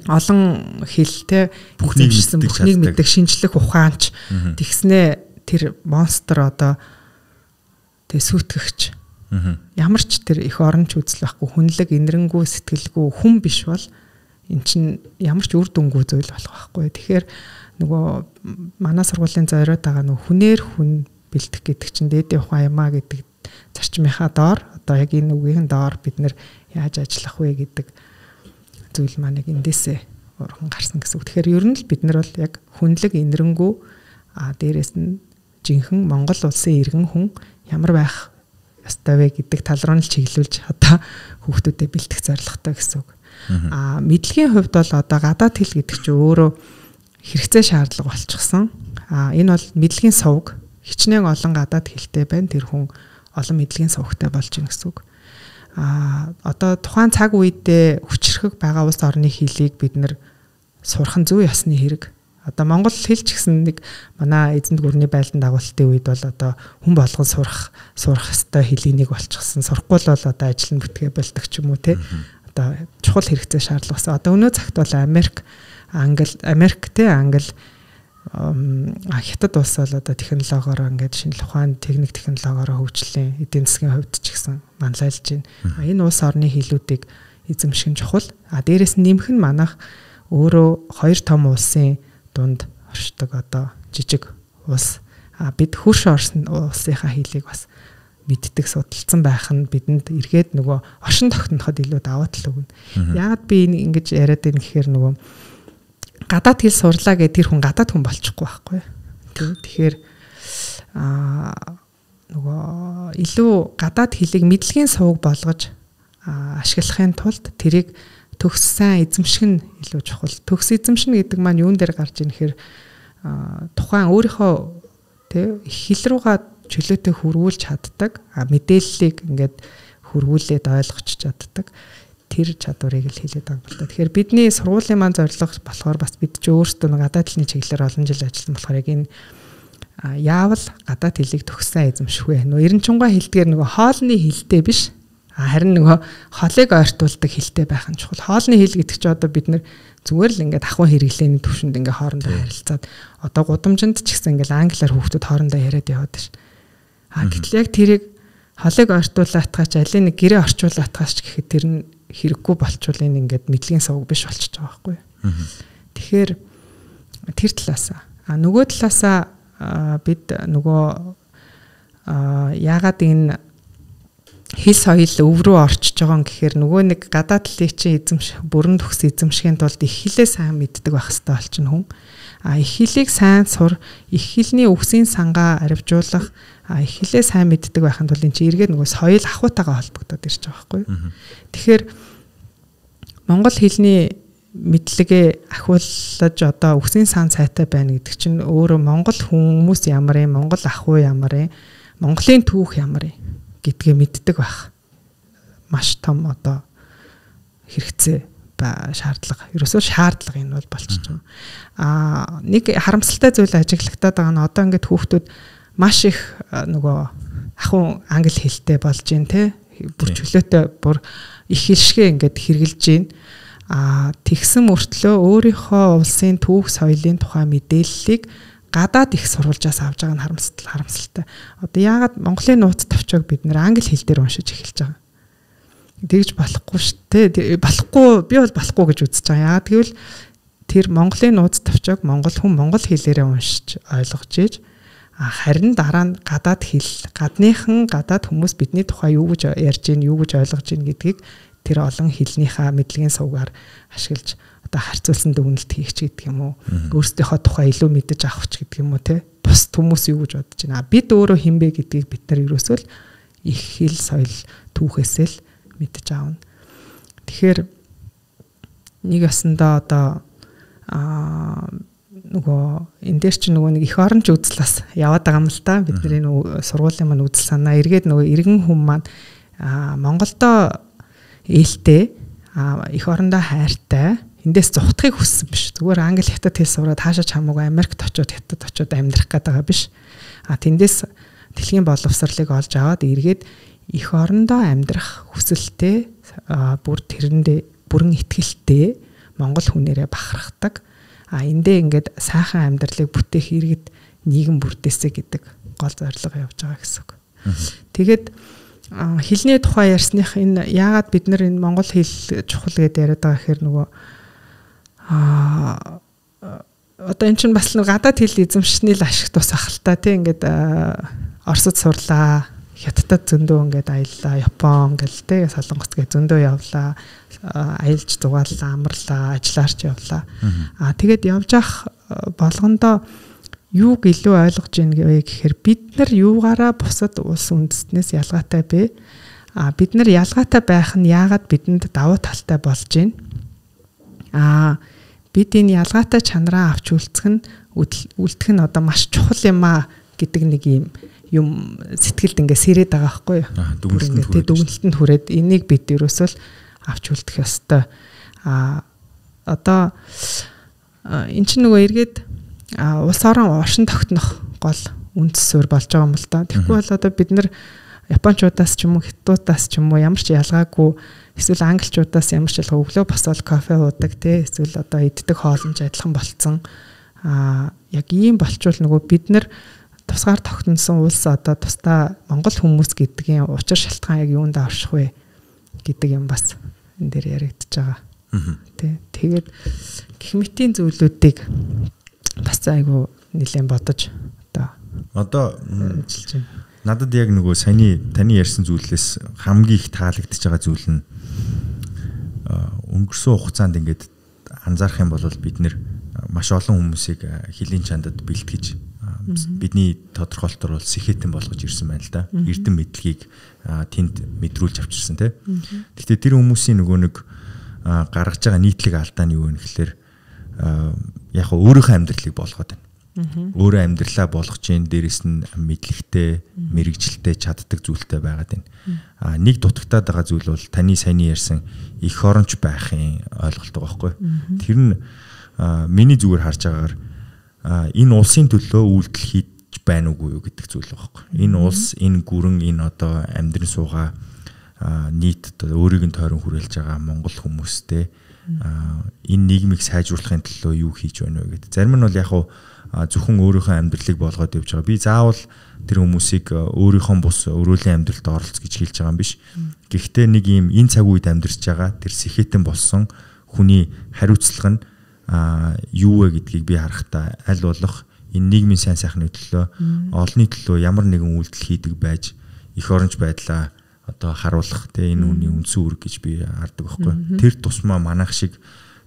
олон хэлтэй бүхнийг мэддэг шинжлэх ухаанч тэгснээ тэр монстр одоо тэг сүйтгэгч ямар ч тэр их оронч үзэл байхгүй хүнлэг инэрэнгүү сэтгэлгүй хүн биш бол эн чинь ямар ч үр дүнгүй зүйл болох байхгүй. Тэгэхээр нөгөө манай сургуулийн зориод байгаа нөгөө хүнээр хүн бэлтгэх гэдэг чинь дээдийн ухаан юмаа гэдэг зарчмынхаа доор одоо яг энэ үгийн доор бид нэр яаж ажиллах вэ гэдэг зүйл маань яг эндээсээ урган гарсан гэсэн үг. Тэгэхээр ер нь л бид нар бол яг хүнлэг инэрэнгүү дээрээс нь жинхэнэ Монгол улсын иргэн хүн ямар байх ёстой вэ гэдэг тал руу нь чиглүүлж одоо хүүхдүүдэд бэлтгэх зорилготой гэсэн үг. Мэдлэгийн хувьд бол одоо гадаад хэл гэдэг чинь өөрөө хэрэгцээ шаардлага болчихсон. Энэ бол мэдлэгийн сувг. Хичнээн олон гадаад хэлтэй байна. Тэр хүн олон мэдлэгийн сувгтай болж байна гэсэн үг. Одоо тухайн цаг үедээ хүчрхэг байгаа улс орны хэлийг бид нэр сурах нь зөв ёсны хэрэг. Одоо монгол хэл ч гэсэн нэг манай эзэнт гүрний байлдан дагуултын үед бол одоо хүн болгон сурах ёстой хэлийг нэг болчихсон. Сурахгүй л бол одоо ажил нь бүтгээ болдог ч юм уу те. Одоо чухал хэрэгцээ шаардлагасан. Одоо өнөө цагт бол Америк, Англи, Хятад улс бол одоо технологиороо ингээд шинжлэх ухааны техник технологиороо хөгжлийн эдийн засгийн хувьд ч гэсэн манлайлж байна. Энэ улс орны хэлүүдийг эзэмших нь чухал. Дээрээс нь нэмэх нь манайх өөрөө хоёр том улсын дунд оршдог одоо жижиг улс. Бид хөрш улсынхаа хэлийг бас мэддэг судалсан байх нь бидэнд эргээд нөгөө оршин тогтноход илүү даваа тал өгнө. Яагаад би ингэж яриад байна гэхээр нөгөө гадаад хэл сурлаа гэдэг тэр хүн гадаад хүн болчихгүй байхгүй. Тэгэхээр нөгөө илүү гадаад хэлийг мэдлэгийн сувг болгож ашиглахын тулд тэрийг төгс сайн эзэмших нь илүү чухал. Төгс эзэмшнэ гэдэг маань юун дээр гарч ийн гэхээр тухайн өөрийнхөө Тэ хил руугаа чөлөөтэй хөрвүүлж чаддаг. Мэдээллийг ингээд хөрвүүлээд ойлгож чаддаг. Тэр чадварыг л хэлээд байгаа юм л да. Тэгэхээр бидний сургуулийн маань зорилго болохоор бас бид ч өөрсдөө нэг гадаад хэлний чиглэлээр олон жил ажилласан болохоор яг энэ яавал гадаад хэлийг төгссөн эзэмшгүй. Эренчунгай хэлдгээр нөгөө хоолны хэлтэй биш. Харин нөгөө хоолыг ойртуулдаг хэлтэй байх нь чухал. Хоолны хэл гэдэг чинь одоо бид нэр зүгээр л ингээд ахуйн хэрэглээний төвшөнд ингээд хоорондоо харилцаад одоо гудамжинд ч гэсэн ингээд англиар хүүхдүүд хоорондоо яриад яваад ш. Гэтэл яг тэрийг хоолыг ойртуулаатгаач аль нэг гэрээ орчуулаатгаач гэхэд тэр нь хэрэггүй болчвол энэ ингээд мэдлэгийн сувг биш болчихж байгаа байхгүй. Тэгэхээр тэр талаасаа нөгөө талаасаа бид нөгөө яагаад энэ хэл соёл өв рүү орчиж байгаа гэхээр нөгөө нэг гадаад хэлийг чинь бүрэн төгс эзэмшихийн тулд их хэлээ сайн мэддэг байх хэрэгтэй болчихно хүн. Их хэлийг сайн сур, их хэлний үгсийн сангаа арвижуулах, их хэлээ сайн мэддэг байхын тулд энэ чинь эргээд нөгөө соёл ахуйтайгаа холбогдоод ирж байгаа байхгүй. Тэгэхээр монгол хэлний мэдлэгээ ахиулж одоо үгсийн сан цайтай байна гэдэг чинь өөрөө монгол хүмүүс ямар юм, монгол ахуй ямар юм, монголын түүх ямар юм гэдгээ мэддэг байх. Маш том одоо хэрэгцээ ба шаардлага. Ерөөсөө шаардлага энэ бол болчихж байгаа. Нэг харамсалтай зүйл ажиглагтаад байгаа нь одоо ингээд хүүхдүүд маш их нөгөө ахуй англи хэлтэй болж гин те бүр чөлөөтэй бүр их хэлшгээ ингээд хэрглэж гин. Тэгсэн мөртлөө өөрийнхөө улсын түүх соёлын тухай мэдээллийг гадаад их сурвалжаас авж байгаа нь харамсалтай. Одоо яагаад Монголын нууц товчоог бид нэр англи хэл дээр уншиж эхэлж байгаа. Тэгж болохгүй шүү дээ. Болохгүй би бол болохгүй гэж үзэж байгаа. Яагаад гэвэл тэр Монголын нууц товчоог монгол хүн монгол хэлээрээ уншиж ойлгож ийж харин дараа нь гадаад хэл, гадаад хүмүүс бидний тухай юу гэж ярьж гин, юу гэж ойлгож гин гэдгийг тэр олон хэлнийхээ мэдлэгийн сувгаар ашиглаж одоо харьцуулсан дүгнэлт хийх гэдэг юм уу? Өөрсдийнхөө тухай илүү мэдэж авах гэдэг юм уу те? Бус хүмүүс юу гэж бодож байна? Бид өөрөө хинбэ гэдгийг бид нар ерөөсөө л их хэл соёл түүхээсээ л мэдэж аавна. Тэгэхээр нэг ясандаа одоо нөгөө энэ дээр чинь нөгөө нэг их оронч үзэл бас яваад байгаа юм л да. Бидний нөгөө сургуулийн маань үзэл санаа эргээд нөгөө иргэн хүн маань Монголдо ээлтэй их орондоо хайртай эндээс зүхтахыг хүссэн биш. Зүгээр англи хятад хэл сураад хаашаач хамаагүй Америкт очиод хятад очиод амьдрах гэдэг байгаа биш. Тэндээс дэлхийн боловсролыг олж аваад эргээд их орондоо амьдрах хүсэлтэй бүр тэрэндээ бүрэн итгэлтэй монгол хүнээрээ бахархдаг. Эндээ ингээд сайхан амьдралыг бүтээх иргэд нийгэм бүрдээсэ гэдэг гол зорилго явж байгаа гэсэн үг. Тэгээд хэлний тухай ярьсных энэ яагаад бид нар энэ монгол хэл чухал гэдээ яриад байгаа гэхээр нөгөө одоо эн чинь бас гадаад хэл эзэмшсэний л ашиг тус ахaltaа тийм ингээд Оросд сурлаа, Хятадд зөндөө ингээд аяллаа, Япон гэл тийм Солонгос гэ зөндөө явлаа, аялж зугааллаа, амарлаа, ажиллаарч явлаа. Тэгээд явж ах болгондоо юуг илүү ойлгож ийн гэхээр бид нар юугаараа бусад улс үндэстнээс ялгаатай бэ? Бид нар ялгаатай байх нь яагаад бидэнд давуу талтай болж байна? Бид энэ ялгаатай чанараа авч үлдэх нь одоо маш чухал юм гэдэг нэг юм сэтгэлд ингээ сэрээд байгаа байхгүй юу? Дүгнэлтэнд хүрээд энийг бид ерөөсөө л авч үлдэх ёстой. Одоо эн чинь нөгөө эргээд улс орон оршин тогтнох гол үндэс суурь болж байгаа юм л да. Тэгэхгүй бол одоо бид нар Япончуудаас ч юм уу, Хятадуудаас ч юм уу ямар ч ялгаагүй эсвэл англичуудаас ямар ч ялгаа өглөө босоод кофе уудаг тий эсвэл одоо иддэг хоолмж адилхан болцсон. Яг ийм болчвол нөгөө бид нар тусгаар тогтносон улс одоо тусдаа монгол хүмүүс гэдгийн учир шалтгаан яг юунд авших вэ гэдэг юм бас энэ дээр яригдчихэж байгаа. Тий. Тэгээд гэх мэтийн зүйлүүдийг бас айгу нэлээд бодож одоо ажиллаж байна. Надад яг нөгөө таны ярьсан зүйлээс хамгийн их таалагдчихж байгаа зүйл нь өнгөрсөн хугацаанд ингээд анзаарах юм бол бид нэр маш олон хүмүүсийг хэлийн чандад бэлтгэж бидний тодорхойлолтоор бол сэхэтэн болгож ирсэн байна л да. Эрдэм мэдлэгийг тэнд мэдрүүлж авчирсан тий. Гэхдээ тэр хүмүүсийн нөгөө нэг гаргаж байгаа нийтлэг алдаа нь юу вэ гэхээр яг өөрийнхөө амьдралыг болгоод байна. Өөрөө амьдралаа болгож ийн дээрэс нь мэдлэгтэй, мэрэгжилтэй, чаддаг зүйлтэй байгаад байна. Нэг дутагтаад байгаа зүйл бол таны саяны ярьсан эх оронч байхын ойлголт байгаа байхгүй. Тэр нь миний зүгээр харж байгаагаар энэ улсын төлөө үйлдэл хийж байна уугүй юу гэдэг зүйл байгаа байхгүй. Энэ улс, энэ гүрэн, энэ одоо амьдрын суугаа нийт одоо өөрийг нь тойрон хүрээлж байгаа Монгол хүмүүстэй энэ нийгмийг сайжруулахын төлөө юу хийж байна вэ гэдэг. Зарим нь бол яг зөвхөн өөрийнхөө амьдралыг болгоод явж байгаа. Би заавал тэр хүмүүсийг өөрийнхөө бус өрөөлийн амьдралд оролц гэж хэлж байгаа юм биш. Гэхдээ нэг юм энэ цаг үед амьдарч байгаа тэр сэхэтэн болсон хүний хариуцлага нь юу вэ гэдгийг би харахтаа аль болох энэ нийгмийн сайн сайхны төлөө олонний төлөө ямар нэгэн үйлдэл хийдэг байж эх оронч байдлаа одоо харуулах те энэ хүний үндсэн үүрэг гэж би хардаг байхгүй. Тэр тусмаа манайх шиг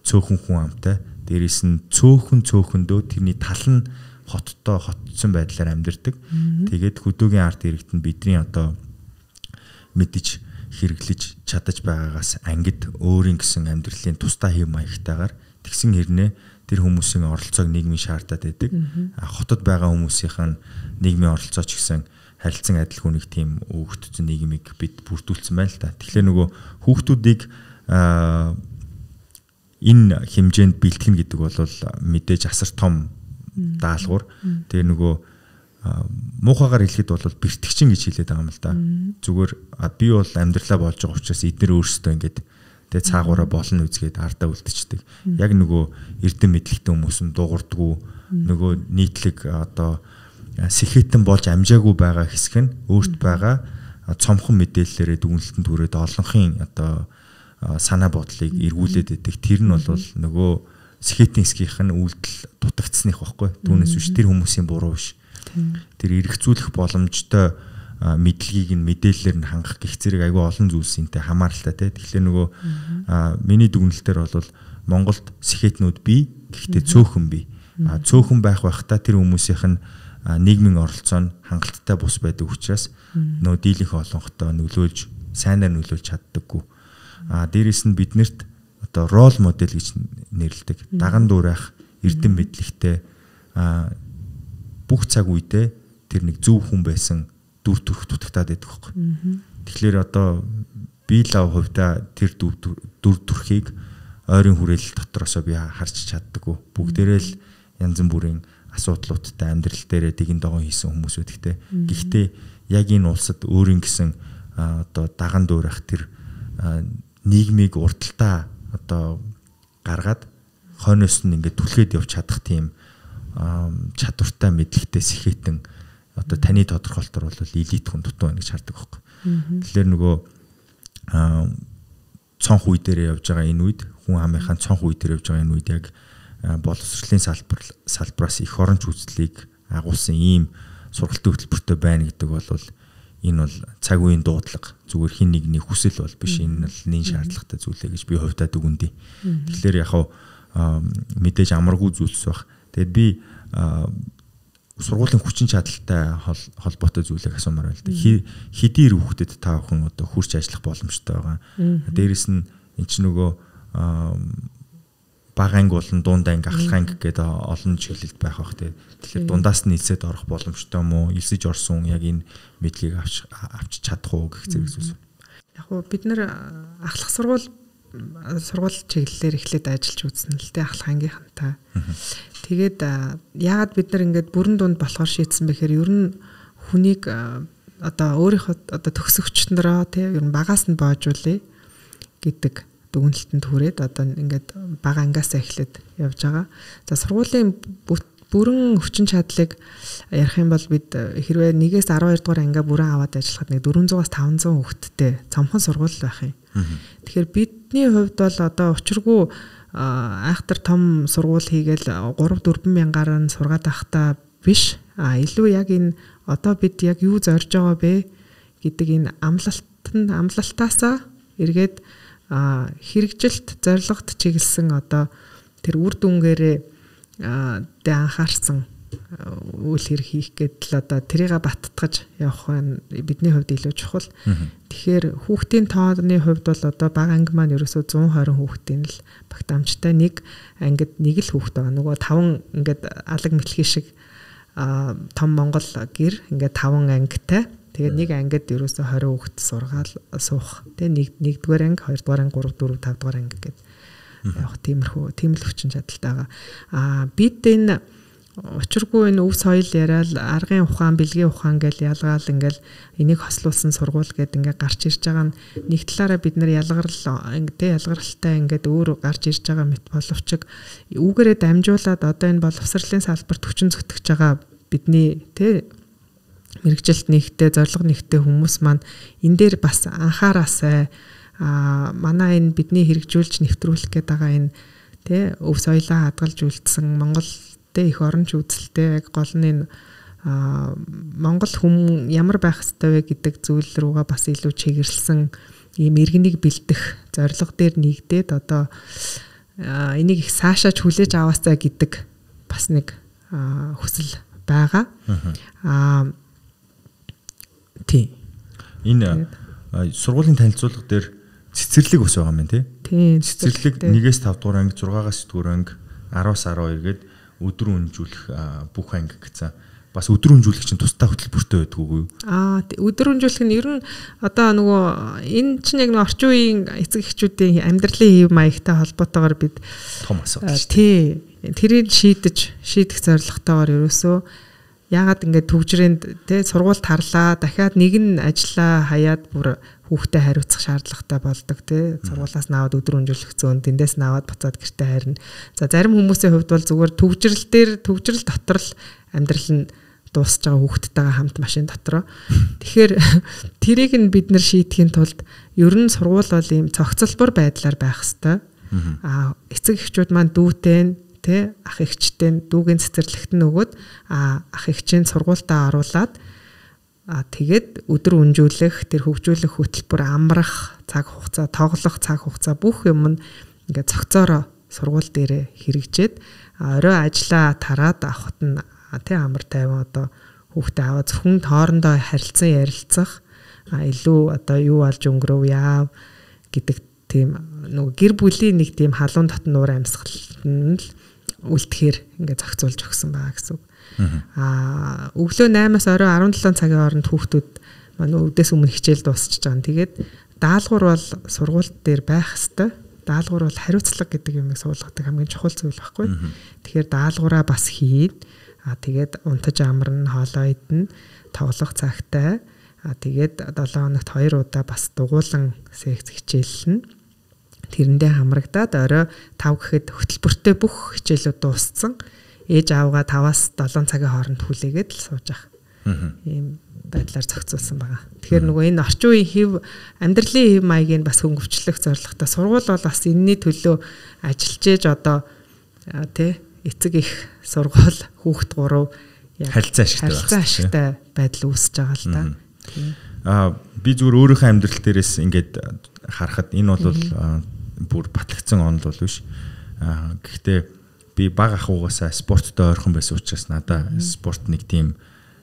цөөхөн хүн амтай дээрээс нь цөөхөндөө тэрний тал нь хотсон байдлаар амьдардаг. Тэгээд хөдөөгийн арт иргэд нь бидний одоо мэдж хэрэглэж чадаж байгаагаас ангид өөрийн гэсэн амьдралын тусдаа хэв маягтайгаар тэгсэн хэрнээ тэр хүмүүсийн оролцоог нийгмийн шаардаад байдаг. Хотод байгаа хүмүүсийнх нь нийгмийн оролцоо ч гэсэн харилцан адилгүй нэг тийм өгөгдсөн нийгмийг бид бүрдүүлсэн байна л да. Тэгэхээр нөгөө хүүхдүүдийг энэ хэмжээнд бэлтгэн гэдэг бол мэдээж асар том даалгавар. Тэгээ нөгөө муухагаар хэлэхэд бол бэртгчин гэж хэлээд байгаа юм л да. Зүгээр би бол амьдралаа болж байгаа учраас эдгээр өөрсдөө ингээд тэгээ цаагаараа болно үзгээд ардаа үлдчихдэг. Яг нөгөө эрдэм мэдлэгтэй хүмүүс нь дуурдгүү нөгөө нийтлэг одоо сэхэтэн болж амжаагүй байгаа хэсэг нь өөрт байгаа цомхон мэдээллээрээ дүгнэлтэнд хүрээд олонхын одоо санаа бодлыг эргүүлээд идэг. Тэр нь бол нөгөө сэхэтэн хэсгийнх нь үйлдэл дутагдсных байхгүй. Түүнээс биш тэр хүмүүсийн буруу биш. Тэр эргэцүүлэх боломжтой мэдлэгийг нь мэдээллээр нь хангах гэх зэрэг айгүй олон зүйлсэнтэй хамааралтай те. Тэгэхээр нөгөө миний дүгнэлтээр бол Монголд сэхэтнүүд бий, гэхдээ цөөхөн бий. Цөөхөн байхдаа тэр хүмүүсийнх нь нийгмийн оролцоо нь хангалттай бус байдаг учраас нөө дийлэнх олонхтой нөлөөлж сайнаар нөлөөлж чаддаггүй. Дээрээс нь биднэрт одоо рол модель гэж нэрлэдэг. Даган дуурайх эрдэм мэдлэгтэй бүх цаг үедээ тэр нэг зөв хүн байсан дүр төрх дутагтаад байдаг байхгүй. Тэгэхээр одоо би лав хувьдаа тэр дүр төрхийг ойрын хүрээлэл дотроосоо би харж чаддаггүй. Бүгдээрээ л янз бүрийн асуудлуудтай амьдрал дээрээ дэгэн догоо хийсэн хүмүүсүүд гэхдээ гэхдээ яг энэ улсад өөрийн гэсэн одоо даган дуурайх тэр нийгмийг урталтаа одоо гаргаад хойноос нь ингээд түлхээд явж чадах тийм чадвартай мэдлэгтэй сэхэтэн одоо таны тодорхойлолтоор бол элит хүн дутуу байна гэж хардаг байхгүй. Тэгэхээр нөгөө цонх үе дээр явж байгаа энэ үед хүн амынхаа цонх үе дээр явж байгаа энэ үед яг боловсролын салбараас эх оронч үзлийг агуулсан ийм сургалтын хөтөлбөртэй байна гэдэг бол энэ бол цаг үеийн дуудлага зүгээр хин нэгний хүсэл бол биш энэ бол нэн шаардлагатай зүйлээ гэж би хувьдаа дүгнэдэг. Тэгэхээр яг мэдээж амаргүй зүйлс баг. Тэгэд би сургуулийн хүчин чадалтай холбоотой зүйлийг асуумаар байна л да. Хэдийн хүүхдэд та бүхэн одоо хурц ажиллах боломжтой байгаа. Дээрээс нь эн чинь нөгөө бага анги болон дунд анги ахлах анги гэдэг олон чиглэлд байх бах те. Тэгэхээр дундаас нь элсэд орох боломжтой юм уу? Элсэж орсон яг энэ мэдлэгийг авч чадах уу гэх зэрэг зүйлс. Яг уу бид нэр ахлах сургууль чиглэлээр эхлээд ажиллаж үзсэн л те ахлах ангийнхантай. Тэгээд яагаад бид нар ингээд бүрэн дунд болохоор шийдсэн бэхээр ер нь хүнийг одоо өөрийнхөө одоо төгсөгчнөрөө те ер нь багаас нь боожуулъя гэдэг дүгнэлтэнд хүрээд одоо ингээд бага ангиасаа эхлээд явж байгаа. За сургуулийн бүрэн хүчин чадлыг ярих юм бол бид хэрвээ 1-ээс 12 дугаар ангиа бүрэн аваад ажиллахад нэг 400-аас 500 хүүхэдтэй цомхон сургууль байх юм. Тэгэхээр бидний хувьд бол одоо учиргүй айхтар том сургууль хийгээл 3-4 мянгаар нь сургаад байхдаа биш. Илүү яг энэ одоо бид яг юу зорж байгаа бэ гэдэг энэ амлалтаасаа эргээд хэрэгжилт зорилгот чиглэсэн одоо тэр үр дүнгээрээ анхаарсан үйл хэрэг хийх гэдэл одоо тэрийг баттгаж явах нь бидний хувьд илүү чухал. Тэгэхээр хүүхдийн тооны хувьд бол одоо бага анги маань ерөөсөө 120 хүүхдийн л багтаамжтай нэг ангид нэг л хүүхд байгаа. Нөгөө 5 ингээд алаг мэлхий шиг том Монгол гэр ингээд 5 ангитай. Тэгээд нэг ангид ерөөсөө 20 хүүхд сургаал суух. Тэгээд нэгдүгээр анги, хоёрдугаар анги, 3, 4, 5 дугаар анги гэдэг. Яг тийм л хүчин чадалтай байгаа. Бид энэ учиргүй энэ өв соёл яриад аргын ухаан, бэлгийн ухаан гэж ялгаал ингээл энийг хослуулсан сургууль гэд ингээд гарч ирж байгаа нь нэг талаараа бид нар ялгаралтай ингээд өөр гарч ирж байгаа мэт боловч үүгээрээ дамжуулаад одоо энэ боловсролын салбарт хүчин зүтгэж байгаа бидний мэрэгжилт нэгтэй, зорилго нэгтэй хүмүүс маань энэ дээр бас анхаараасай. Манай энэ бидний хэрэгжүүлж нэвтрүүлэх гээд байгаа энэ өв соёлоо хадгалж үлдсэн Монгол их оронч үзэлтэй яг гол нь Монгол хүн ямар байх ёстой вэ гэдэг зүйл рүүгээ бас илүү чиглэлсэн ийм иргэнийг бэлдэх зорилго дээр нэгдээд одоо энийг их цаашаач хүлээж аваасаа гэдэг бас нэг хүсэл байгаа. Тийм. Энэ сургуулийн танилцуулга дээр цэцэрлэг бас байгаа юм тий. Цэцэрлэг 1-5 дугаар анги, 6-9 дугаар анги, 10-12 гээд өдөр үнжүүлэх бүх анги гэсэн. Бас өдөр үнжүүлэх чинь тусдаа хөтөлбөртэй байдаг уу? Өдөр үнжүүлэх нь ер нь одоо нөгөө энэ чинь яг нэг орчин үеийн эцэг эхчүүдийн амьдралын хэв маягтай холбоотойгоор бид том асуудал шүү. Тий. Тэрийг шийдэх зорилготойгоор ерөөсөө яагаад ингээд төвжрэнд сургуульд харлаа дахиад нэг нь ажиллаа хаяад бүр хүүхдэд хариуцах шаардлагатай болдог сургуулаас наваад өдөр үнжүүлэх зөөн тэндээс наваад буцаад гэртээ харна. За зарим хүмүүсийн хувьд бол зүгээр төвжрэл дотор л амьдрал нь дуусж байгаа хүүхдтэйгээ хамт машин дотроо. Тэгэхээр тэрийг нь бид нар шийдэхин тулд ер нь сургууль бол ийм цогцлбор байдлаар байх хэвээр. Эцэг эхчүүд маань дүүтэй ах эгчтэй дүүгийн цэцэрлэгт нь өгөөд ах эгчийн сургуультаа оруулаад тэгээд өдөр үнжүүлэх тэр хөгжүүлэх хөтөлбөр амрах цаг хугацаа тоглох цаг хугацаа бүх юм нь ингээд цогцоороо сургууль дээрээ хэрэгжээд орой ажиллаа тараад авахт нь амар тайван одоо хүүхдээ аваа зөвхөн хоорондоо харилцан ярилцах илүү одоо юу алж өнгөрөв яав гэдэг тийм нөгөө гэр бүлийн нэг тийм халуун дотн нуур амьсгал нь л үлдэхээр ингээд зохицуулж өгсөн байгаа гэсэн үг. Өглөө 8-аас орой 17 цагийн хооронд хүүхдүүд манай өвдөөс өмнө хичээл дуусчихж байгаа. Тэгээд даалгавар бол сургууль дээр байх хэвээр. Даалгавар бол хариуцлага гэдэг юмыг суулгадаг хамгийн чухал зүйл байхгүй. Тэгэхээр даалгавраа бас хийн. Тэгээд унтаж амарна, хоолоо идэнэ, тоглох цагтай. Тэгээд 7 хоногт 2 удаа бас дугуулan секц хичээллэнэ. Тэрэндээ хамрагдаад орой 5 гэхэд хөтөлбөртэй бүх хичээлүүд дууссан. Ээж аавгаа 5-аас 7 цагийн хооронд хүлээгээд л сууж ах. Ийм байдлаар зохицуулсан байгаа. Тэгэхээр нөгөө энэ орчин үеийн амьдралын хэв маягийг бас хөнгөвчлөх зорилготой сургууль бол бас энэний төлөө ажиллаж ээж одоо эцэг их сургууль хүүхд 3 харилцаа ашигтай байдал үүсэж байгаа л да. Би зүгээр өөрийнхөө амьдрал дээрээс ингээд харахад энэ бол бүр батлагдсан онол бол биш. Гэхдээ би бага ахуйгаасаа спорттой ойрхон байсан учраас надаа спорт нэг тийм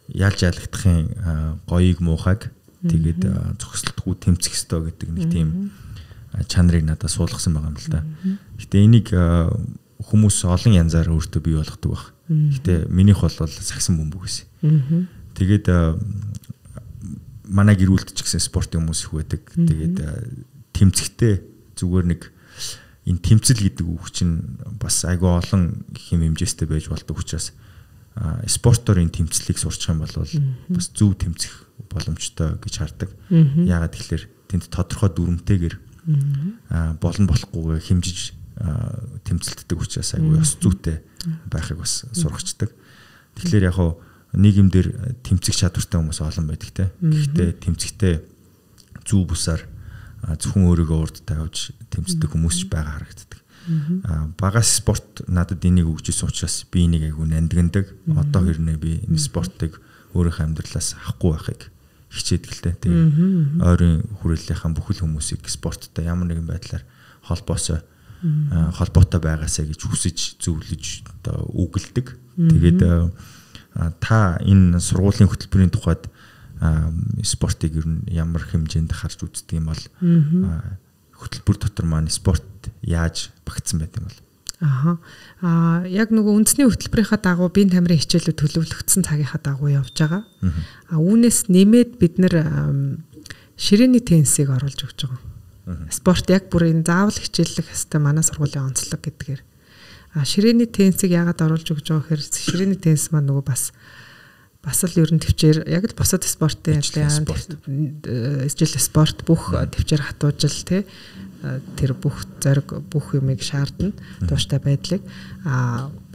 ялж ялагдахын гоёыг муухайг тэгээд зохисолтгүй тэмцэх ёстой гэдэг нэг тийм чанарыг надад суулгасан байгаа юм л да. Гэтэ энийг хүмүүс олон янзаар өөртөө бий болгодог баг. Гэтэ минийх бол сагсан бөмбөг гэсэн. Тэгээд манай гэр бүлд ч гэсэн спортын хүмүүс их байдаг. Тэгээд тэмцэхтэй зүгээр нэг энэ тэмцэл гэдэг үг чинь бас айгүй олон хэм хэмжээстэй байж болдог учраас спортоор энэ тэмцлийг сурчих юм бол бас зөв тэмцэх боломжтой гэж хардаг. Яагаад тэгэхээр тэнд тодорхой дүрмтэйгээр болон болохгүйгээ хэмжиж тэмцэлтдэг учраас айгүй ёс зүйтэй байхыг бас сургацдаг. Тэгэхээр яг нийгэмдэр тэмцэх чадвартай хүмүүс олон байдаг те. Гэхдээ тэмцэхдээ зөв бусаар зөвхөн өөрийгөө урд тавьж тэмцдэг хүмүүс ч байгаа харагддаг. Багаас спорт надад энийг өгчээсэн учраас би энийг айгүй нандиндаг. Одоо хэрнээ би энэ спортыг өөрийнхөө амьдралаас авахгүй байхыг хичээдэг л дээ. Тэгээ ойрын хүрээллийнхэн бүхэл хүмүүсийг спорттой ямар нэгэн байдлаар холбоотой байгаасаа гэж хүсэж зөвлөж одоо үгэлдэг. Тэгээд та энэ сургуулийн хөтөлбөрийн тухайд спортыг ер нь ямар хэмжээнд харж үздэг юм бол хөтөлбөр дотор маань спорт яаж багтсан байт юм бол? Яг нөгөө үндэсний хөтөлбөрийнхаа дагуу биеийн тамирын хичээлүүд төлөвлөгдсөн цагийнхаа дагуу явж байгаа. Үүнээс нэмээд бид нэр ширээний теннисийг оруулж өгч байгаа. Спорт яг бүр энэ заавал хичээллэх хэвээр манай сургуулийн онцлог гэдгээр. Ширээний теннисийг яагаад оруулж өгч байгаа гэхээр ширээний теннис маань нөгөө бас л ерөн төвчээр яг л бусад спортын ижил спорт бүх төвчээр хатуужил тэр бүх зориг бүх юмыг шаардна тууштай байдлыг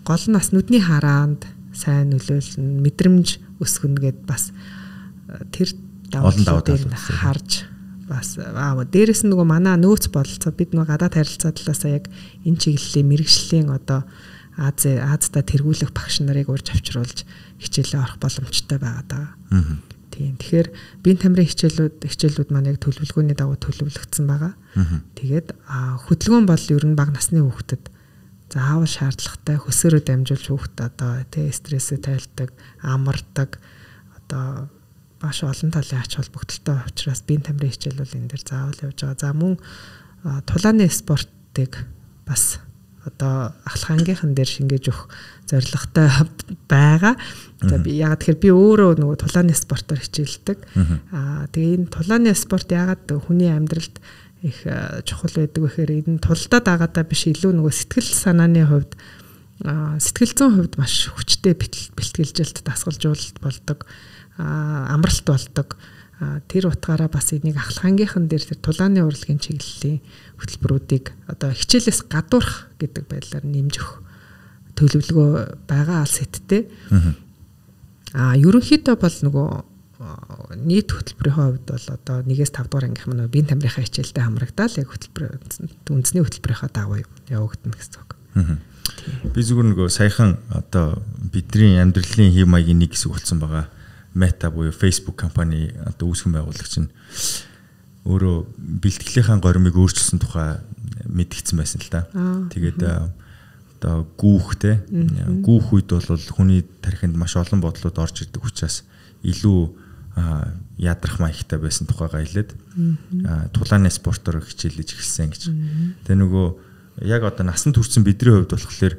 гол нь бас нүдний хараанд сайн нөлөөлнө мэдрэмж өсгөнө гэд бас тэр давааталыг харж бас дээрэс нь нөгөө манай нөөц бололцоо бид нөгөө гадаад харилцаа талаасаа яг энэ чиглэлийн мэрэгжлийн одоо Азда тэргүүлэх багш нарыг урьж авчруулж хичээлээ орох боломжтой байгаа даа. Тийм. Тэгэхээр биеийн тамирын хичээлүүд маань яг төлөвлөгөөний дагуу төлөвлөгдсөн байгаа. Тэгээд хөдөлгөөн бол ер нь бага насны хүүхдэд заавал шаардлагатай хөсөөрөө дамжуулж хүүхдэд одоо стрессээ тайлдаг, амардаг одоо маш олон талын ач холбогдолтой учраас биеийн тамирын хичээл бол энэ дээр заавал явж байгаа. За мөн тулааны спортыг бас одоо ахлах ангийнхан дээр шингээж өгөх зорилготой байгаа. За би ягаад тэгэхээр би өөрөө нөгөө тулааны спортоор хичээлдэг. Тэгээ энэ тулааны спорт ягаад хүний амьдралд их чухал байдаг вэ гэхээр энэ тулдаа дагаадаа биш илүү нөгөө сэтгэл санааны хувьд сэтгэл зүйн хувьд маш хүчтэй бэлтгэлжилт дасгалжуулалт болдог. Амралт болдог. Тэр утгаараа бас энийг ахлах ангийнхан дээр тэр тулааны урлагийн чиглэлийн хөтөлбөрүүдийг одоо хичээлээс гадуурх гэдэг байдлаар нэмж өгөх төлөвлөгөө байгаа алс хэттэй. Ерөнхийдөө бол нөгөө нийт хөтөлбөрийн хувьд бол одоо 1-5 дугаар ангийнхан нөгөө биеийн тамирынхаа хичээлтэй хамрагдаал яг үндэсний хөтөлбөрийнхаа дагуу явагдана гэсэн үг. Би зүгээр нөгөө саяхан одоо бидний амьдралын хэв маягийн нэг хэсэг болсон байгаа. Meta буюу Facebook компани одоо үүсгэн байгуулагч нь өөрөө бэлтгэлийнхаа горимыг өөрчилсөн тухай мэдгдсэн байсан л да. Тэгээд одоо гүүхтэй гүүх үед бол хүний тархинд маш олон бодлууд орж ирдэг учраас илүү ядрах маягтай байсан тухайгаа хэлээд тулааны спортоор хичээлж эхэлсэн гэж. Тэгээ нөгөө яг одоо насан туршсан бидний хувьд болохоор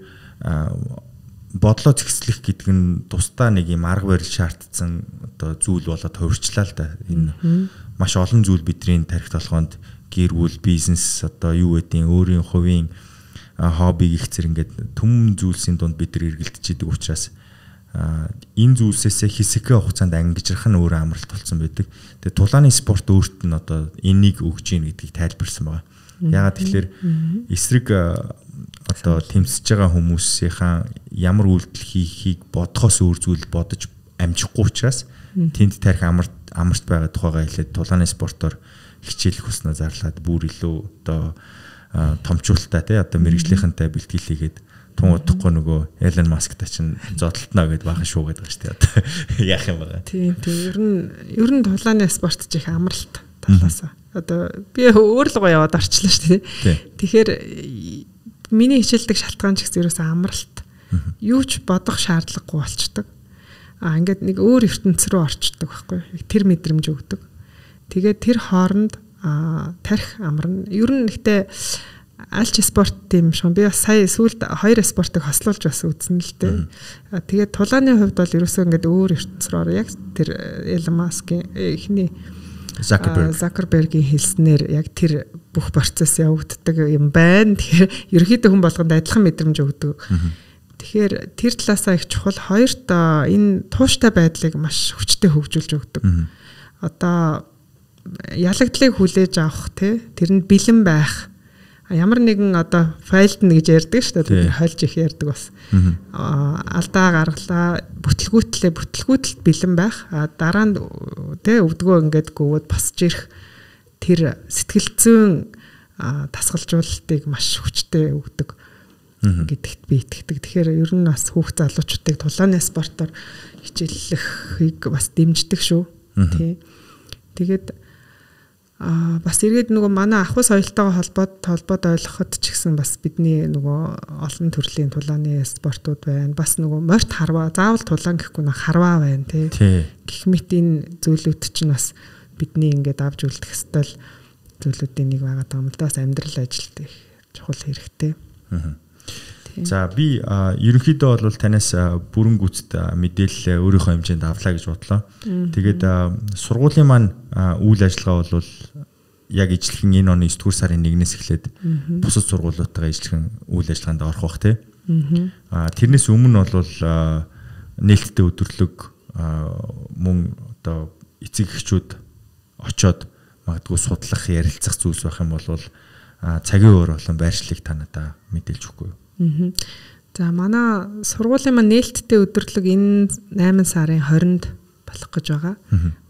бодлоо зэгцлэх гэдэг нь тусдаа нэг юм арга барил шаардсан одоо зүйл болоод хувирчлаа л да. Энэ маш олон зүйл бидний тархи толгоонд гэр бүл, бизнес одоо юу гэдгийг өөрийн хувийн хоббиг их зэрэг ингээд төм зүйлсийн дунд бид нар эргэлдэж идэг учраас энэ зүйлсээсээ хэсэгхэн хугацаанд ангижрах нь өөрөө амралт болсон байдаг. Тэгээ тулааны спорт өөрт нь одоо энийг өгж ийн гэдгийг тайлбарсан байна. Ягаад тэгэхээр эсрэг одоо тэмцэж байгаа хүмүүсийнхаа ямар үйлдэл хийхийг бодохоос өөр зүйл бодож амжихгүй учраас тэнд тарих амарт байгаа тухайгаа хэлээд тулааны спортоор хичээлэх хүснэ зарлаад бүр илүү одоо томчуултаа тий одоо мэрэгжлийнхэнтэй бэлтгэл хийгээд тун удахгүй нөгөө Элон Масктай чинь зодтолтно гэдээ баахан шуугаад байгаа шүү дээ одоо яах юм бэ? Тийм ер нь тулааны спорт ч их амралт талаасаа одоо би өөр л гоо яваад орчлоо шүү дээ. Тэгэхээр миний хичээлдэг шалтгаан ч гэсэн ерөөсөө амралт. Юу ч бодох шаардлагагүй болчдөг. Ингээд нэг өөр ертөнц рүү орчдөг байхгүй. Тэр мэдрэмж өгдөг. Тэгээд тэр хооронд тарих амарна. Ер нь ихтэй аль ч спорт тийм шүү. Би бас сая сүүлд 2 спортыг хослуулж бас үзсэн л дээ. Тэгээд тулааны хувьд бол ерөөсөө ингээд өөр ертөнц рүү ороо яг тэр Elon Musk-ийн эхний Zuckerberg-ийн хэлснээр яг тэр бүх процесс явагддаг юм байна. Тэгэхээр ерөөхдөө хүн болгонд адилхан мэдрэмж өгдөг. Тэгэхээр тэр талаасаа их чухал. Хоёрт энэ тууштай байдлыг маш хүчтэй хөгжүүлж өгдөг. Одоо ялагдлыг хүлээж авах тэр нь бэлэн байх. Ямар нэгэн одоо файлд нь гэж ярьдаг шүү дээ. Тэр хольж их ярьдаг бас. Алдаа гаргалаа, бүтлгүүтэлд бэлэн байх. Дараа нь өвдгөө ингээд гүвэд босч ирэх тэр сэтгэл зүйн дасгалжуулалтыг маш хүчтэй өгдөг гэдэгт би итгэдэг. Тэгэхээр ер нь бас хүүхд залуучуудыг тулааны спортоор хичээллэхийг бас дэмждэг шүү. Тий. Тэгээд бас эргээд нөгөө манай ахуй соёлтойгоо холбоод ойлгоход ч гэсэн бас бидний нөгөө олон төрлийн тулааны спортууд байна. Бас нөгөө морьт харваа, заавал тулаан гэхгүй нэг харваа байна тий. Гэх мэт энэ зүйлүүд чинь бас бидний ингээд авч үлдэх ёстой зүйлүүдийн нэг байгаа юм л да. Бас амьдрал ажилд их чухал хэрэгтэй. За би ерөнхийдөө бол танаас бүрэн гүйцэд мэдээлэл өөрийнхөө хэмжээнд авлаа гэж бодлоо. Тэгээд сургуулийн маань үйл ажиллагаа бол яг ижлэхэн энэ оны 9 дугаар сарын 1-ээс эхлээд бусад сургуулиудтайгаа ижлэхэн үйл ажиллагаанд орох бах тий. Тэрнээс өмнө бол нээлттэй өдөрлөг мөн одоо эцэг эхчүүд очоод магадгүй судлах, ярилцах зүйлс байх юм бол цагийн өөр болон байршлыг та надад мэдээлж өгөхгүй юу? За манай сургуулийн маань нээлттэй өдөрлөг энэ 8 сарын 20-нд болох гэж байгаа.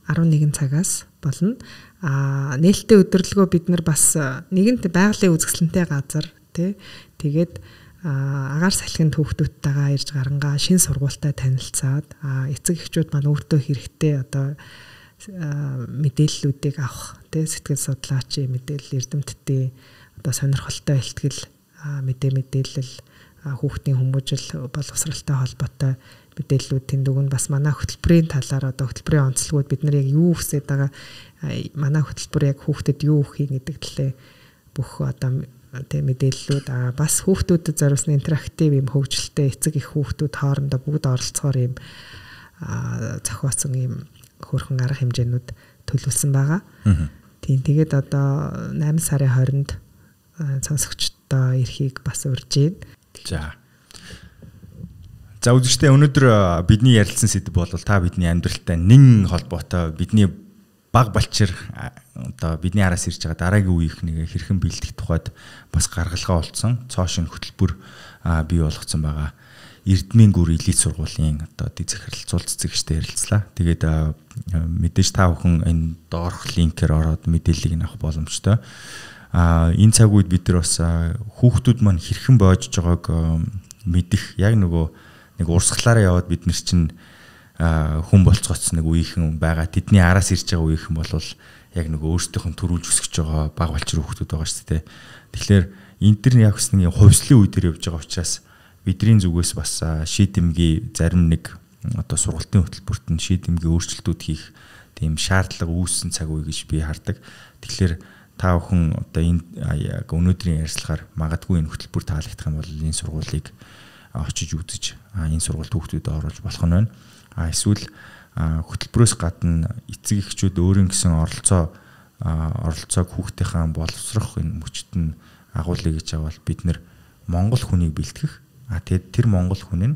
11 цагаас болно. Нээлттэй өдөрлөгөө бид нар бас нэгэнт байгалийн үзэсгэлэнтэй газар тий. Тэгээд агаар салхинд хүүхдүүдтэйгээ ирж гарангаа шинэ сургуультай танилцаад эцэг эхчүүд маань өөртөө хэрэгтэй одоо мэдээллүүдийг авах тий, сэтгэл судлаачийн мэдээлэл, эрдэмтдийн одоо сонирхолтой ихтгэл мэдээлэл хүүхдийн хүмүүжил боловсралтай холбоотой мэдээллүүд тэнд өгнө. Бас манай хөтөлбөрийн талаар одоо хөтөлбөрийн онцлогуд бид нар яг юу хүсэж байгаа, манай хөтөлбөр яг хүүхдэд юу өгөх гэдэг талээ бүх одоо тэг мэдээллүүд бас хүүхдүүдэд зориулсан интерактив юм хөгжилтэй эцэг их хүүхдүүд хоорондоо бүгд оролцохоор юм зохиосон юм хөөрхөн арга хэмжээнүүд төлөвлөсөн байгаа. Тийм тэгээд одоо 8 сарын 20-нд сонсогчдоо эрхийг бас урьж байна. За үзэгчдээ өнөөдөр бидний ярилцсан сэдв бол та бидний амьдралтай нэн холбоотой бидний баг балчир одоо бидний араас ирж байгаа дараагийн үеийнх нэг хэрхэн бэлдэх тухайд бас гаргалгаа олцсон цоошин хөтөлбөр бий болгоцсон байгаа. Эрдмийн гүр элит сургуулийн одоо дэг захирал цул цэцэгчтэй ярилцлаа. Тэгээд мэдээж та бүхэн энэ доорх линкээр ороод мэдээллийг авах боломжтой. Энэ цаг үед бид нар бас хүүхдүүд маань хэрхэн боожж байгааг мэдэх яг нөгөө нэг урсгалаараа яваад бид нар чинь хүн болцгоц нэг үеийнхэн байгаа. Тэдний араас ирж байгаа үеийнхэн бол яг нөгөө өөрсдийнх нь төрүүлж өсгөж байгаа баг балчир хүүхдүүд байгаа шүү дээ. Тэгэхээр энэ төр яг бас нэг хувьслын үе дээр явж байгаа учраас бидний зүгээс бас шийдэмгий зарим нэг одоо сургалтын хөтөлбөрт нь шийдэмгий өөрчлөлтүүд хийх тийм шаардлага үүссэн цаг үе гэж би хардаг. Тэгэхээр та бүхэн одоо энэ яг өнөөдрийн ярилцлагаар магадгүй энэ хөтөлбөр таалагдах юм бол энэ сургуулийг очиж үзэж энэ сургуульд хүүхдүүдэд оруулж болох нь байна. Эсвэл хөтөлбөрөөс гадна эцэг эхчүүд өөрийн гэсэн оролцоог хүүхдийнхээ боловсрох энэ мөчт нь агуулъя гэж авал бид нэр Монгол хүнийг бэлтгэх. Тэгээд тэр Монгол хүн нь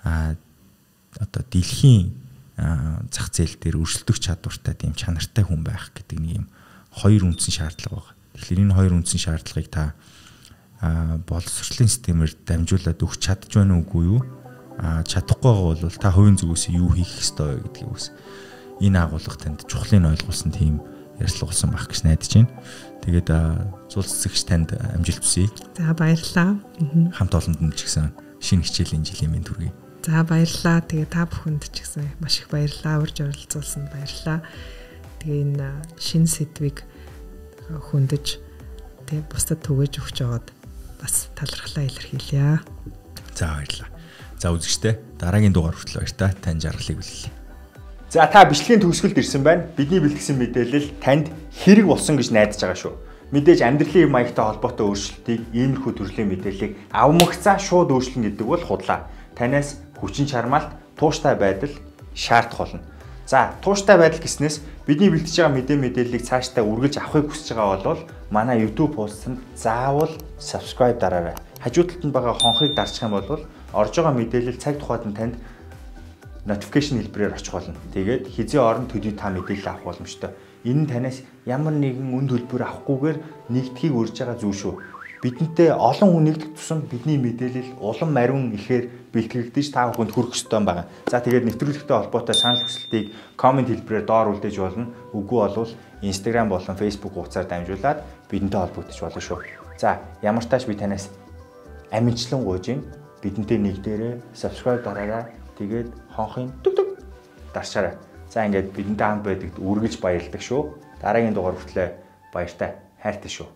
одоо дэлхийн зах зээл дээр өрсөлдөх чадвартай тийм чанартай хүн байх гэдэг нэг юм хоёр үндсэн шаардлага байна. Тэгэхээр энэ хоёр үндсэн шаардлагыг та боловсролын системээр дамжуулаад өгч чадж байна уугүй юу? Чадахгүй байгаа бол та хувийн зүгээс юу хийх ёстой вэ гэдгийг бас энэ агуулга танд чухлыг ойлгуулсан тийм ярилцлага болсон байх гэж найдаж байна. Тэгээд цул цэцэгч танд амжилт хүсье. За баярлалаа. Хамт олонд ч гэсэн шинэ хичээлийн жилийн мэнд хүргэе. За баярлалаа. Тэгээд та бүхэнд ч гэсэн маш их баярлалаа. Урьж оролцуулсанд баярлалаа. Тэгээ энэ шинэ сэдвийг хөндөж тэгээд бусдад түгэж өгч жагаад бас талархлаа илэрхийлье. За баярлалаа. За үзэгчдээ дараагийн дугаар хүртэл баяртай тань жаргалыг хүлээлье. За та бичлэгийн төгсгөлд ирсэн байна. Бидний бэлтгэсэн мэдээлэл танд хэрэг болсон гэж найдаж байгаа шүү. Мэдээж амьдралын маягтай холбоотой өөрчлөлтийг иймэрхүү төрлийн мэдээллийг авмагцаа шууд өөрчлөн гэдэг бол худлаа. Танаас хүчин чармаалт, тууштай байдал шаардах болно. За тууштай байдал гэснээс бидний бэлтэж байгаа мэдээллийг цаашдаа үргэлж авахыг хүсэж байгаа бол манай YouTube пост-д заавал subscribe дараарай. Хажуу талд нь байгаа хонхыг дарчих юм бол орж байгаа мэдээлэл цаг тухайд нь танд notification хэлбэрээр очих болно. Тэгээд хизээ орон төдий та мэдээлэл авах боломжтой. Энэ нь танаас ямар нэгэн үн төлбөр авахгүйгээр нэгдхийг урьж байгаа зүйл шүү. Бидэнтэй олон хүн нэгдэх тусам бидний мэдээлэл улам мариун ихээр бэлтгэгдэж та бүхэнд хүрэх ёстой байгаа. За тэгээд нэвтрүүлэгтэй холбоотой санал хүсэлтийг комент хэлбэрээр доор үлдээж болно. Үгүй болвол Instagram болон Facebook хуудасаар дамжуулаад бидэнтэй холбогдож болно шүү. За ямар тааш би танаас амжилтлан гуйж юм. Бидэнтэй нэгдээрээ subscribe дараарай. Тэгээд хонхын дүг дарчаарай. За ингээд бидэнтэй хамт байдагт үргэлж баярлагдав шүү. Дараагийн дугаар хүртэл баяртай хайртай шүү.